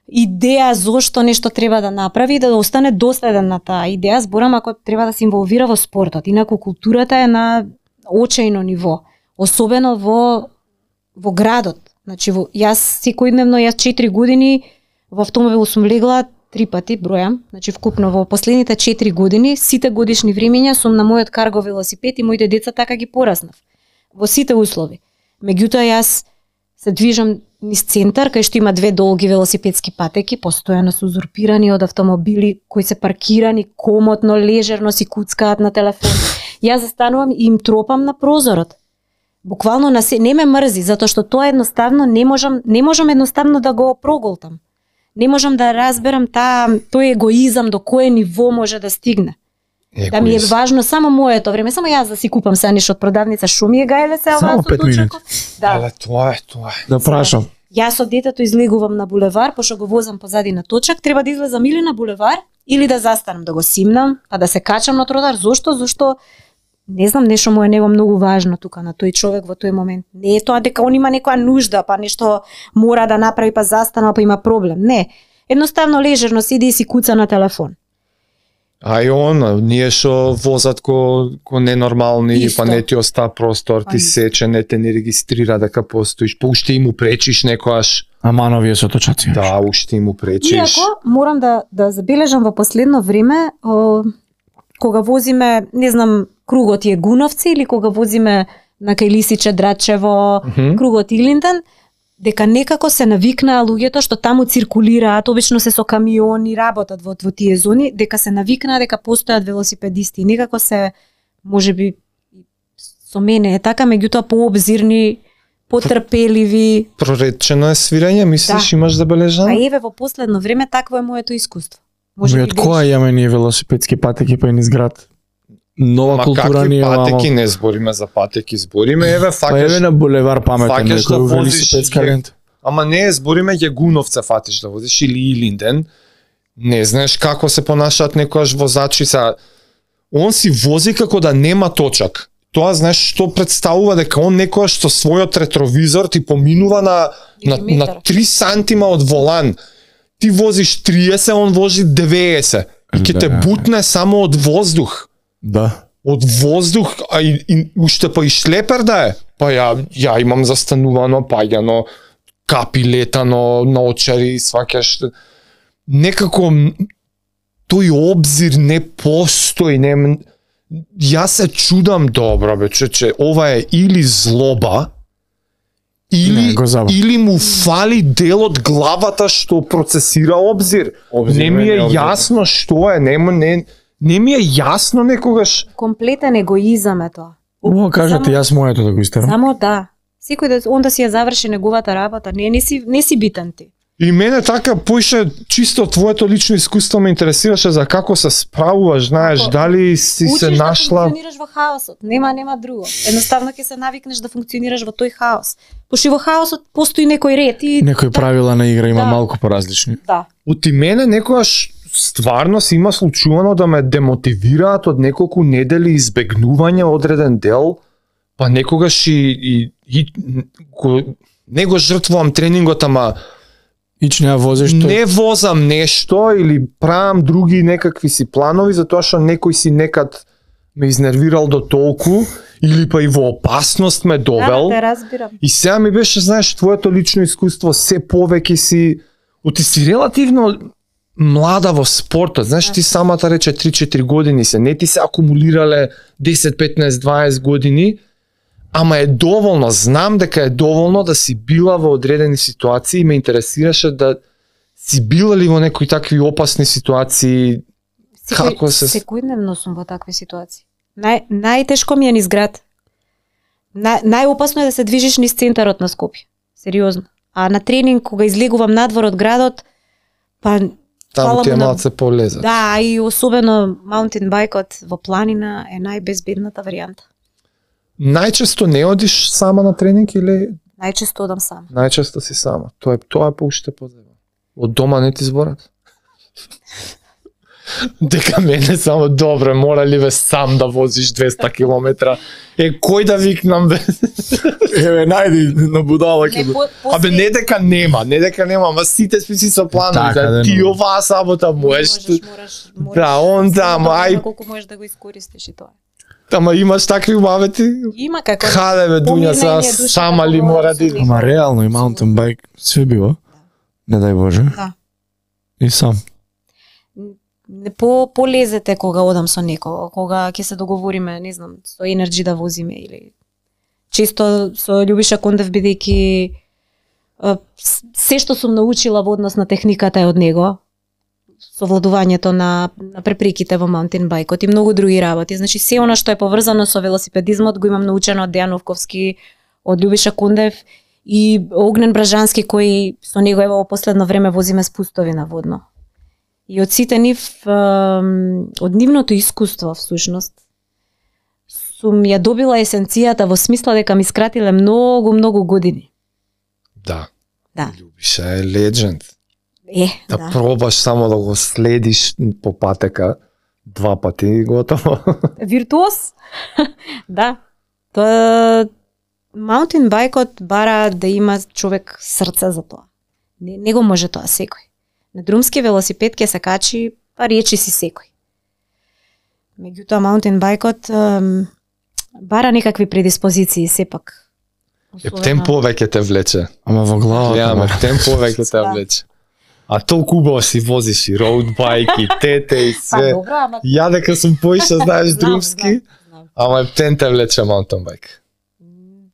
идеја зошто нешто треба да направи и да остане доследен на таа идеја. Зборам ако треба да се инволвира во спортот. Инаку културата е на очајно ниво, особено во градот. Значи јас секојдневно 4 години во автомобил сум легла 3 пати, бројам, значи вкупно во последните 4 години, сите годишни времења сум на мојот карго велосипед и моите деца така ги пораснав. Во сите услови. Меѓутоа јас се движам низ центар, кај што има 2 долги велосипедски патеки, постојано се узурпирани од автомобили кои се паркирани комотно, лежерно си куцкаат на телефон. Јас застанувам и им тропам на прозорот. Буквално не ме мрзи, затоа што тоа едноставно не можам едноставно да го проголтам. Не можам да разберам тој егоизам до кое ниво може да стигне. Да ми е важно само моето време, само јас да си купам сега нешто од продавница, шо ми е гајле се само 5 минути. Да. Тоа е. Да прашам. Јас од детето излегувам на булевар, пошто го возам позади на точак, треба да излезам или на булевар, или да застанам да го симнам, па да се качам на тротоар. Зошто? Не знам, нешто му е него многу важно тука на тој човек во тој момент. Не е тоа дека он има некоја нужда, па нешто мора да направи, па застанал, па има проблем. Не. Едноставно лежерно седи и си куца на телефон. А и ние што возат ко ненормални, па не ти оста простор, ти сече, не те не регистрира дека постоиш, па уште и му пречиш некојаш. Мановија со точаци. Да, уште и му пречиш. Иако, морам да забележам во последно време, кога возиме, не знам, кругот Јегуновци или кога возиме на кај Лисиче, Драчево, кругот Илинден, дека некако се навикнаа луѓето што таму циркулираат, обично се со камиони, работат во тие зони, дека се навикнаа дека постојат велосипедисти. Некако се, можеби, со мене е така, меѓутоа пообзирни, потрпеливи. Проречено е свирење, мислиш, да. Имаш забележано? А еве во последно време такво е моето искуство. Може од која имаме ние велосипедски патеки па низ град? Нова култура ни е вамо. Патеки не збориме за патеки, збориме еве факеш. Па еве на булевар паметен некој велосипедска лента. Ама не збориме Јегуновца фатиш да возиш или Илинден. Не знаеш како се понашаат некојаш возачица. Он си вози како да нема точак. Тоа знаеш што представува дека он некојаш со својот ретровизор ти поминува на 3 сантима од волан. Ти возиш 30, он вози 90. И ќе те бутне само од воздух. Да. Од воздух, а и уште па и шлепер да е. Па ја имам застанувано, паѓано, капи летано, наочари, сваќаш. Некако тој обзир не постои, не. Јас се чудам, добро бе, че ова е или злоба, Или, го забав. или му фали дел од главата што процесира обзир. Не ми е јасно што е, не ми е јасно некогаш. Комплетен егоизам е тоа. Ово кажете, јас моето да го истерам. Само да. Секој да он да си ја заврши неговата работа, не си битен ти. И мене така поише чисто твоето лично искуство ме интересираше за како се справуваш, знаеш, дали си се нашла. Учиш да функционираш во хаосот, нема друго. Едноставно ќе се навикнеш да функционираш во тој хаос. Пошто во хаосот постои некој ред и Некои правила на игра има малку поразлични. Да. Оти мене некогаш стварно си има случувано да ме демотивираат од неколку недели избегнување одреден дел, па некогаш не го жртвувам тренингот, ама не возиш не возам нешто или правам други некакви си планови затоа што некој си некад ме изнервирал до толку или па и во опасност ме довел. Да, те разбирам. И сега ми беше, знаеш, твоето лично искуство се повеќе си си релативно млада во спортот. Знаеш, ти самата рече 3-4 години се, не ти се акумулирале 10, 15, 20 години, ама е доволно, знам дека е доволно да си била во одредени ситуации и ме интересираше да си била ли во некои такви опасни ситуации. Како се... Секојдневно сум во такви ситуации. Најтешко ми е низ град. Најопасно е да се движиш низ центарот на Скопје. Сериозно. А на тренинг, кога излегувам надвор од градот, па... Таму ти е малце полезат. Да, и особено маунтин бајкот во планина е најбезбедната варијанта. Најчесто не одиш сама на тренинг или? Најчесто одам сама. Најчесто си сама. Тоа е поуште позебно. Од дома не ти зборат? Дека мене само добро, мора ли бе сам да возиш 200 километра? Кој да викнам бе? Еве, најди на будала ќе. Абе не дека нема, ама сите списи со планови, ти оваа сабота можеш. Да, он да, ај колку можеш да го искористиш и тоа. Ама имаш такви мавети? Има како. Хаде бе, Дуња, сама ли мора да идеш? Ама реално и маунтин байк све бива. Не дај Боже. Да. И сам. Полезете кога одам со некого, кога ќе се договориме, не знам, со Енерджи да возиме или често со Љубиша Кондев, бидејќи се што сум научила во однос на техниката е од него, совладувањето на препреките во маунтин бајкот и многу други работи. Значи се она што е поврзано со велосипедизмот го имам научено од Дејан Овковски, од Љубиша Кондев и Огнен Бражански, кој со него ево во последно време возиме спустови на водно. И од сите од нивното искуство всушност сум ја добила есенцијата во смисла дека ми скратиле многу години. Да. Да. Љубиша е легенд. Да пробаш само да го следиш по патека 2 пати и готово. Виртуоз? Да. Тоа маунтин бајкот бара да има човек срце за тоа. Не го може тоа секој. На друмски велосипед ќе се качи, па речи си секој. Меѓутоа маунтин бајкот бара некакви предиспозиции сепак. Ептен повеќе те влече. Ама во главата. Ја, ептен повеќе те влече. А толку убаво си возиш и роуд бајки, тете и све. Па добро, ама... Ја дека сум поиша, знаеш, друмски, ама ептен те влече маунтин бајк.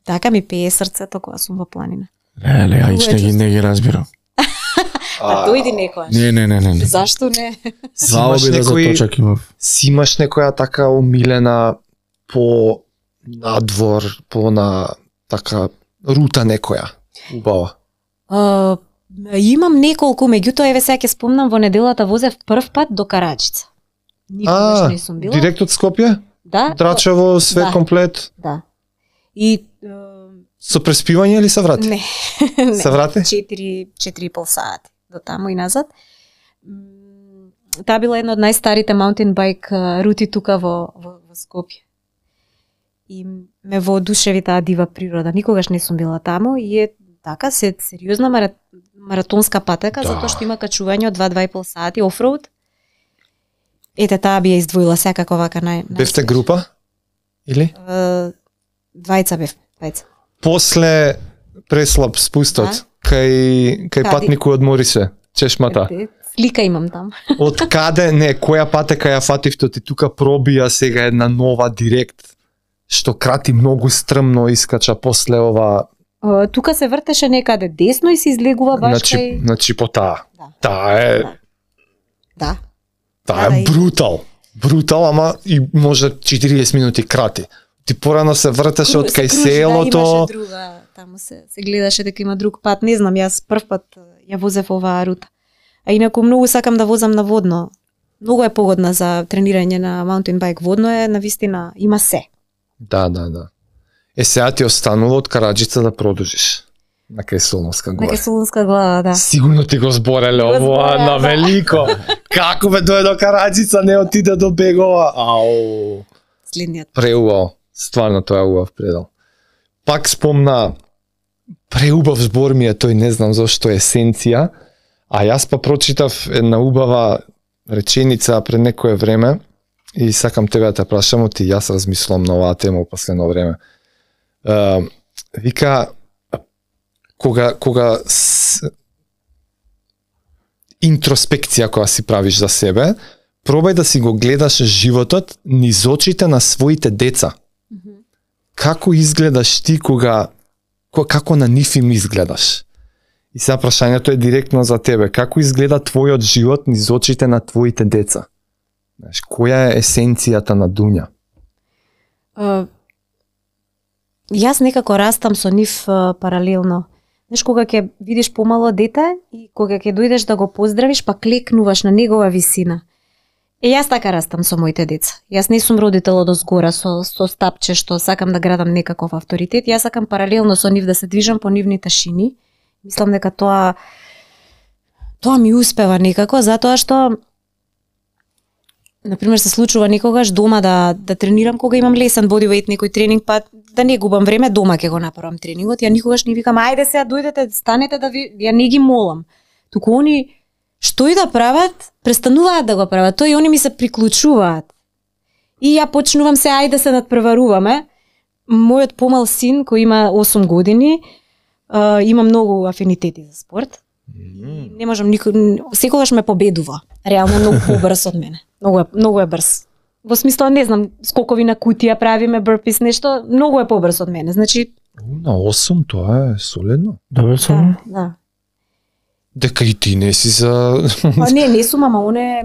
Така ми пее срцето кога сум во планина. Леле, не ги разбирам. А дојди некојаш. Не. Зашто не? Заоби да заточак имав. Си имаш некоја така умилена по надвор, по на така рута некоја убава? Имам неколку, меѓутоа еве сега ќе спомнам, во неделата возев прв пат до Караџица. Никогаш не сум била. Директ од Скопје? Да. Драчево, све комплет? Да. И со преспивање или се врати? Не. Се врати? 4,5 сати до таму и назад. Таа била една од најстарите маунтин байк рути тука во Скопје. И ме воодушеви таа дива природа. Никогаш не сум била таму и е така сериозна маратонска патека, затоа што има качување од 2,5 сати офроуд. Ете таа би ја издвоила секако вака Бевте група? Или? Двајца бев, двајца. После преслаб спустот, кај патникот одмори се, чешмата. Слика имам там. Од каде, која патека ја фативте, ти тука пробија сега една нова директ, што крати многу стрмно, искача после ова Тука се вртеше некаде десно и се излегува баш кај... Значи по таа. Да. Таа е... Да. Таа е брутал. Брутал, ама и може 40 минути крати. Ти порано се вртеше од кај селото. Да, имаше друга, таму се гледаше дека има друг пат. Не знам, јас прв пат ја возев оваа рута. А инаку многу сакам да возам на водно. Многу е погодна за тренирање на маунтин байк. Водно е навистина, има се. Да. Сега ти останува од Караџица да продолжиш. На кај Солунска гора. На кај Солунска гора, да. Сигурно ти го збореле ово на велико. Како бе дојде до Караџица, не отиде до Бегова. Ау. Следниот. Преубаво. Стварно тоа е убав предел. Пак спомна, преубав збор ми е тој, не знам зашто есенција, а јас па прочитав една убава реченица пред некое време и сакам тебе да те прашам, оти јас размислувам на оваа тема во последно време. Вика, кога интроспекција која си правиш за себе, пробај да си го гледаш животот низ очите на своите деца. Како изгледаш ти како на нив им изгледаш? И сега прашањето е директно за тебе. Како изгледа твојот живот низ очите на твоите деца? Знаеш, која е есенцијата на Дуња? Јас некако растам со нив паралелно. Знаеш, кога ќе видиш помало дете и кога ќе дојдеш да го поздравиш, па клекнуваш на негова висина. Јас така растам со моите деца. Јас не сум родител од озгора со стапче што сакам да градам некаков авторитет. Јас сакам паралелно со нив да се движам по нивните шини. Мислам дека тоа ми успева некако, затоа што например се случува некогаш дома да тренирам кога имам лесен бодивејт некој тренинг, па да не губам време, дома ќе го направам тренингот. Ја никогаш не викам ајде сега дојдете, станете да ви, ја не ги молам. Туку они што и да прават, престануваат да го прават, тоа и они ми се приклучуваат. И ја почнувам се ајде се надпреваруваме. Мојот помал син кој има 8 години, има многу афинитети за спорт. Не можам секогаш ме победува. Реално многу побрз од мене. Многу е брз. Во смисла не знам, скокови на кутија правиме, бурпис, нешто, многу е побрз од мене. Значи на 8 тоа е солидно. Да. Дека и ти не си за... не сум, ама он е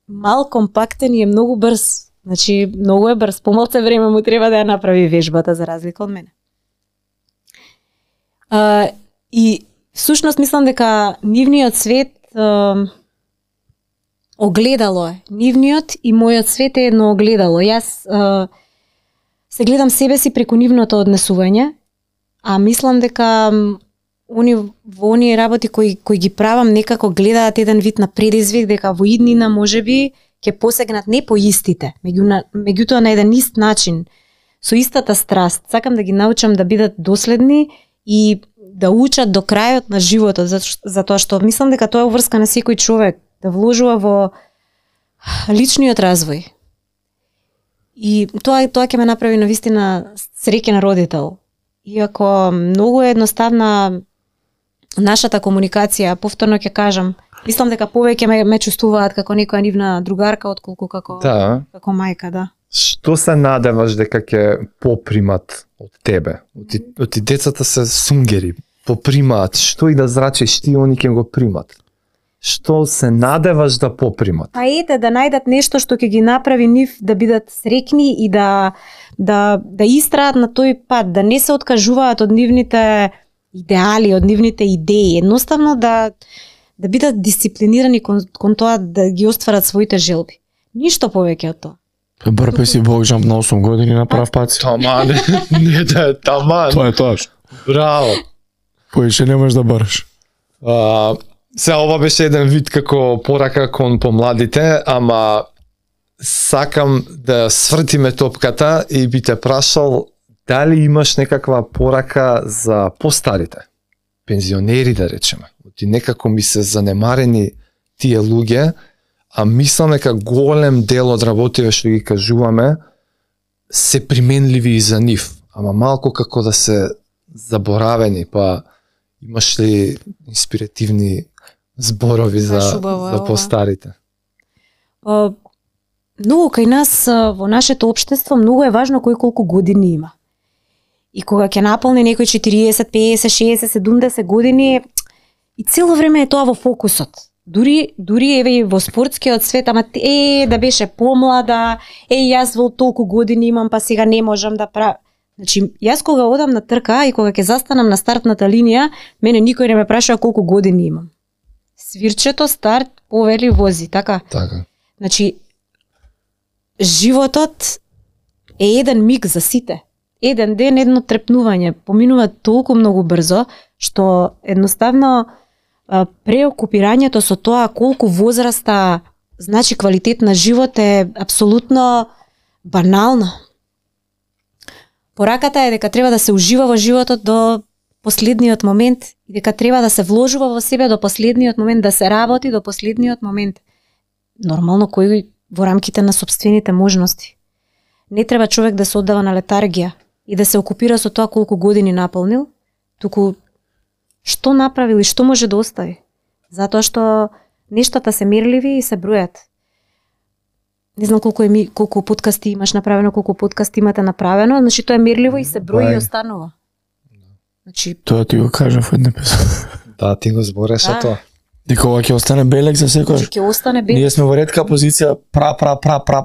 мал, компактен и е многу брз. Значи, многу е брз. Помалце време му треба да ја направи вежбата за разлика од мене. И всушност мислам дека нивниот свет огледало е. Нивниот и мојот свет е едно огледало. Јас се гледам себе си преку нивното однесување, а мислам дека во оние работи кои ги правам некако гледаат еден вид на предизвик, дека во иднина можеби ќе посегнат не по истите, меѓутоа на еден ист начин, со истата страст. Сакам да ги научам да бидат доследни и да учат до крајот на животот, затоа што мислам дека тоа е уврска на секој човек, да вложува во личниот развој. И тоа ќе ме направи навистина среќен родител. Иако многу е едноставна нашата комуникација, повторно ќе кажам, мислам дека повеќе ме чувствуваат како некоја нивна другарка отколку како мајка, да. Што се надеваш дека ќе попримат од тебе? Оти децата се сунгери, попримаат, што и да зрачиш ти, они ќе го примат. Што се надеваш да попримат? Па ете, да најдат нешто што ќе ги направи нив да бидат среќни и да истраат на тој пат, да не се откажуваат од нивните идеали, од нивните идеи. Едноставно да бидат дисциплинирани кон тоа да ги остварат своите желби. Ништо повеќе од тоа. Брпе си бокжамп на 8 години на прав пат. Таман, не да е таман. Тоа е тоа. Браво. Поише не можеш да бараш. Се ова беше еден вид како порака кон помладите, ама сакам да свртиме топката и би те прашал дали имаш некаква порака за постарите, пензионери да речеме. Ти некако ми се занемарени тие луѓе, а мислам дека голем дел од работите што ги кажуваме се применливи и за нив, ама малку како да се заборавени, па имаш ли инспиративни зборови за постарите? Многу кај нас во нашето општество многу е важно кој колку години има. И кога ќе наполни некој 40, 50, 60, 70 години, и цело време е тоа во фокусот. Дури еве и во спортскиот свет, ама да беше помлада, јас во толку години имам, па сега не можам да правам. Значи, јас кога одам на трка и кога ќе застанам на стартната линија, мене никој не ме прашува колку години имам. Свирчето старт повели вози, така? Така. Значи, животот е еден миг за сите. Еден ден, едно трепнување, поминува толку многу брзо, што едноставно преокупирањето со тоа колку возраста значи квалитет на живот е апсолутно банално. Пораката е дека треба да се ужива во животот до последниот момент и дека треба да се вложува во себе до последниот момент, да се работи до последниот момент. Нормално кој во рамките на сопствените можности. Не треба човек да се оддава на летаргија и да се окупира со тоа колку години наполнил, туку што направил и што може да остави. Затоа што нештата се мерливи и се бројат. Не знам колку подкасти имаш направено, колку подкасти имате направено, значи тоа е мерливо и се брои и останува. Значи Тоа ти го кажав од епизод. Да, ти го збореше тоа. Дека ова ќе остане белег за секој. ќе остане белег. Ние сме во ретка позиција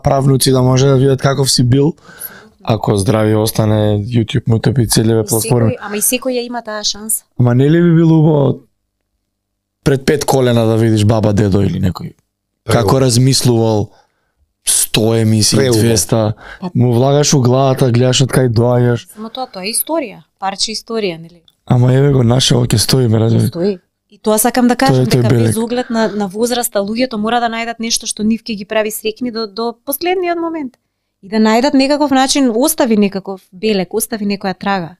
правнуци да може да видат каков си бил. Ако здрави остане YouTube, Mutep и целеве платформи. Ама и секој ја има таа шанса. Ама не ли би било убаво пред 5 колена да видиш баба, дедо или некој како размислувал 100 емисии, 200, му влагаш у главата, гледаш од кај доаѓаш. Само тоа е историја, парче историја, нели? Ама еве го нашето ќе стои, ме разбираш. Стои. И тоа сакам да кажам, Тоа е дека белег. без оглед на возраста, луѓето мора да најдат нешто што нив ќе ги прави среќни до последниот момент. И да најдат некаков начин, остави некаков белег, остави некоја трага.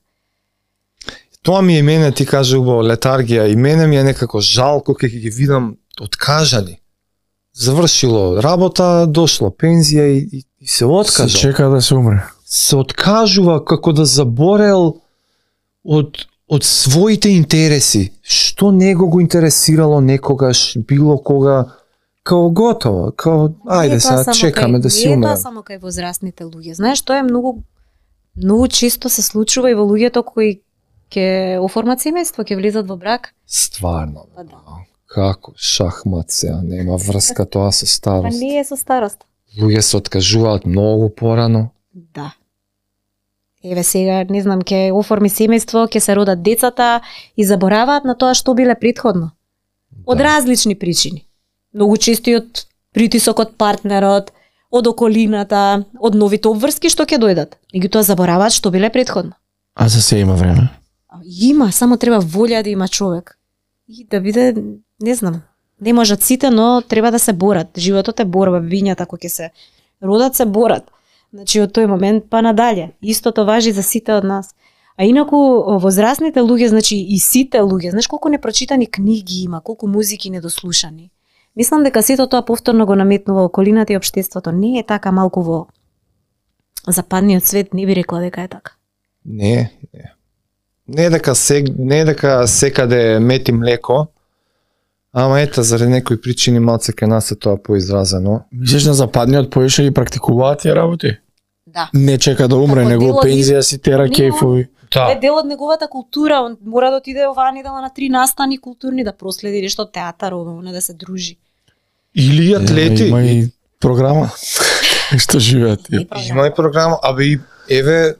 Тоа ми е и мене, ти кажа убаво, летаргија, и мене ми е некако жалко кога ги видам откажани. Завршило работа, дошло пензија и се Се откажа. чека да се умре. Се откажува како да заборел од своите интереси. Што него го интересирало некогаш, било кога, као готово, као ајде сега чекаме да си умрем. Не е умрем. тоа само кај возрастните луѓе. Знаеш, тоа е многу често се случува и во луѓето кои ќе оформат семејство, ќе влизат во брак. Стварно. Па да. Како шахмат сега, нема врска тоа со Па старост. не е со старост. Луѓе се откажуваат многу порано. Да. Еве сега, не знам, ќе оформи семејство, ќе се родат децата и забораваат на тоа што биле претходно. Од различни причини. Многу често и од притисок од партнерот, од околината, од новите обврски што ќе дојдат. Меѓутоа забораваат што биле претходно. А за се има време. Има, само треба волја да има човек. И да биде, не знам, не можат сите, но треба да се борат. Животот е борба, вињата кои ќе се родат се борат. Значи од тој момент па надале. Истото важи за сите од нас. А инаку возрастните луѓе, значи и сите луѓе, знаеш колку непрочитани книги има, колку музики недослушани. Мислам дека сето тоа повторно го наметнува околината и општеството. Не е така, малку во западниот свет не би рекла дека е така. Не. Не е дека секаде мети млеко, ама ета заради некои причини малце кај нас е тоа поизразено. Мислиш на западниот поише ги практикуваат тие работи? Да. Не чека да умре, Како него дел од пензија си тера Не, кејфови. Е дел од неговата култура, он мора да отиде ова недела на 3 настани културни да проследи нешто театар, ова, да се дружи. Или атлети. Има и програма. Што живеат тие. Има и програма, абе и еве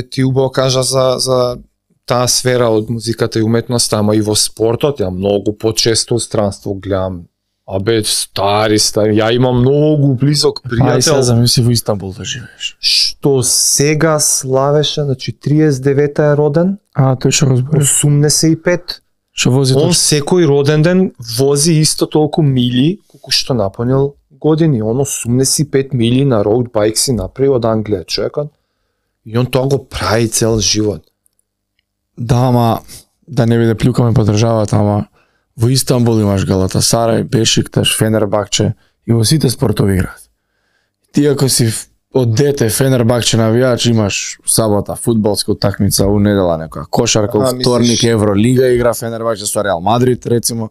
ти убаво кажа за таа сфера од музиката и уметноста, ама и во спортот, ја многу почесто странство гледам. Абе, стари, ја имам многу близок Ај сега пријател, замисли во Истанбул да живееш. што сега славеше, значи 39-та е роден, А, тој што го збориш. 85. Што вози Он точно. секој роден ден вози исто толку мили колку што напонил години. Он 85 мили на роуд байк си направи од Англија човекот. И он тоа го прави цел живот. Да, ама да не биде плюкаме по државата, ама во Истанбул имаш Галатасарај, Бешикташ, Фенербахче и во сите спортови играат. Ти ако си од дете Фенербахче навијач, имаш сабота фудбалска утакмица, у недела некоја кошарка, Аха, у вторник Евролига игра Фенербахче со Реал Мадрид рецимо.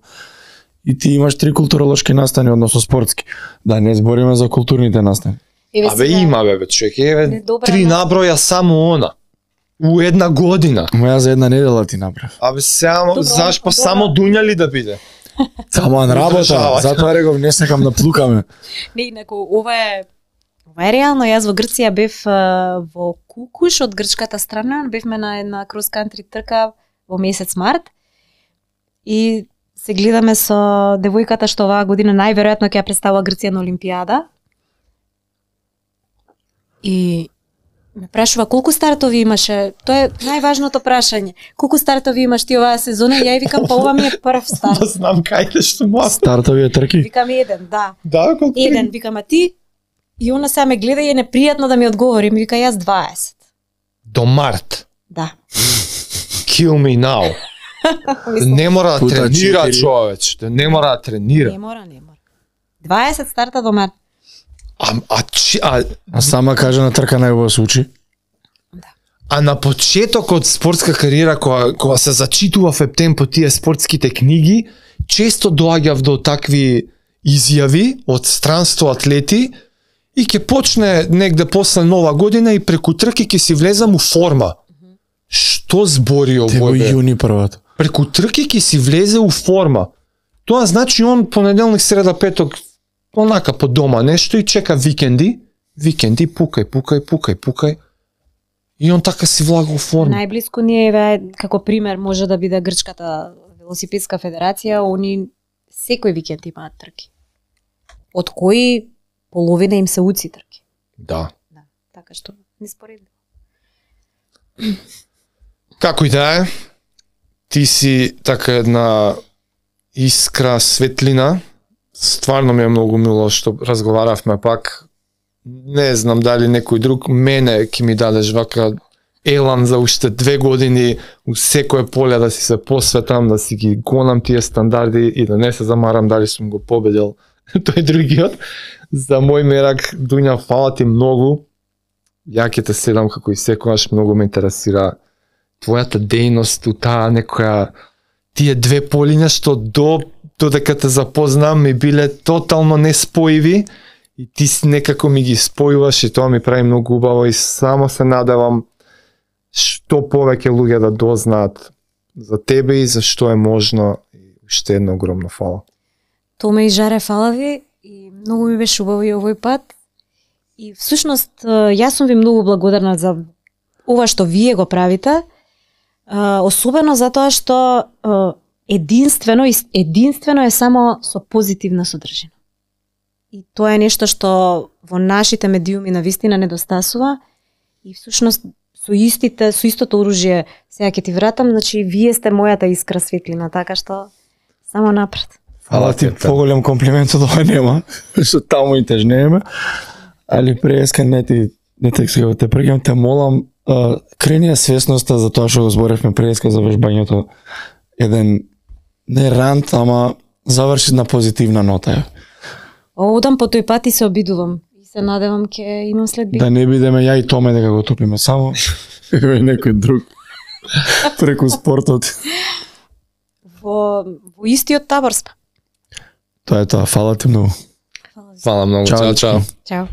И ти имаш 3 културолошки настани, односно спортски. Да не збориме за културните настани. Абе има бе човек, еве Не, добра 3 на- наброја само она. у една година. Моја за една недела ти направи. Абе само Добро, заш па добро. само Дуња ли да биде? Само на работа, Одржавај. затоа реков не сакам да плукаме. Не, инаку ова е реално. Јас во Грција бев во Кукуш од грчката страна, бевме на една крос-кантри трка во месец март и се гледаме со девојката што оваа година најверојатно ќе ја представува Грција на Олимпијада. И ме прашува колку стартови имаше. Тоа е најважното прашање. Колку стартови имаш ти оваа сезона? Ја и викам, па ова ми е прв старт. Да знам кај што му Стартовија трки. Викам еден, да. Да, колку Еден, викам, а ти? И она сега ме гледа и е непријатно да ми одговори. Ми вика, јас 20. до март. Да. Kill me now. Не мора да Пута тренира 4. човече, не мора да тренира. Не мора. 20 старта до март. А сама кажа на трка најубаво се учи. А на почетокот спортска кариера, кога се зачитува в ептен по тие спортските книги, често доаѓав до такви изјави од странство атлети и ќе почне негде после нова година и преку трки ќе си влезам у форма. Што збори Те во овој бе? јуни првото. Преку трки ќе си влезе у форма. Тоа значи он понеделник, среда, петок онака по дома нешто и чека викенди, пукај. И он така си влага у форма. Најблиску ни е, како пример, може да биде Грчката велосипедска федерација, они секој викенд имаат трки. Од кои половина им се уци трки. Да. Да, така што не споредно. Како и да е, ти си така една искра, светлина. Стварно ми е многу мило што разговаравме пак. Не знам дали некој друг мене ќе ми дадеш вака елан за уште 2 години у секое поле да си се посветам, да си ги гонам тие стандарди и да не се замарам дали сум го победил тој другиот. За мој мерак, Дуња, фала ти многу. Ја ќе те следам како и секогаш, многу ме интересира твојата дејност у таа некоја тие две полиња што додека те запознам ми биле тотално неспоиви и ти некако ми ги спојуваш и тоа ми прави многу убаво и само се надевам што повеќе луѓе да дознаат за тебе и за што е можно и уште едно огромно фала. Томе и Жаре, фала ви и многу ми беше убаво и овој пат. И всушност јас сум ви многу благодарна за ова што вие го правите, особено затоа што единствено е само со позитивна содржина. И тоа е нешто што во нашите медиуми навистина недостасува и всушност со истото оружје сега ќе ти вратам, значи вие сте мојата искра светлина, така што само напред. Фала ти, поголем комплимент од ова нема, што таму и тежнееме. Али преска не те сега те прегам, те молам, крени ја свесноста за тоа што го зборевме преска за вежбањето. Еден не рант, ама заврши на позитивна нота. Одам по тој пат и се обидувам. И се надевам ќе имам следби. Да не бидеме ја и Томе дека го топиме само, и некој друг преку спортот. Во истиот табор сме. Тоа е тоа, фала ти многу. Фала многу, Чао. чао. Чао.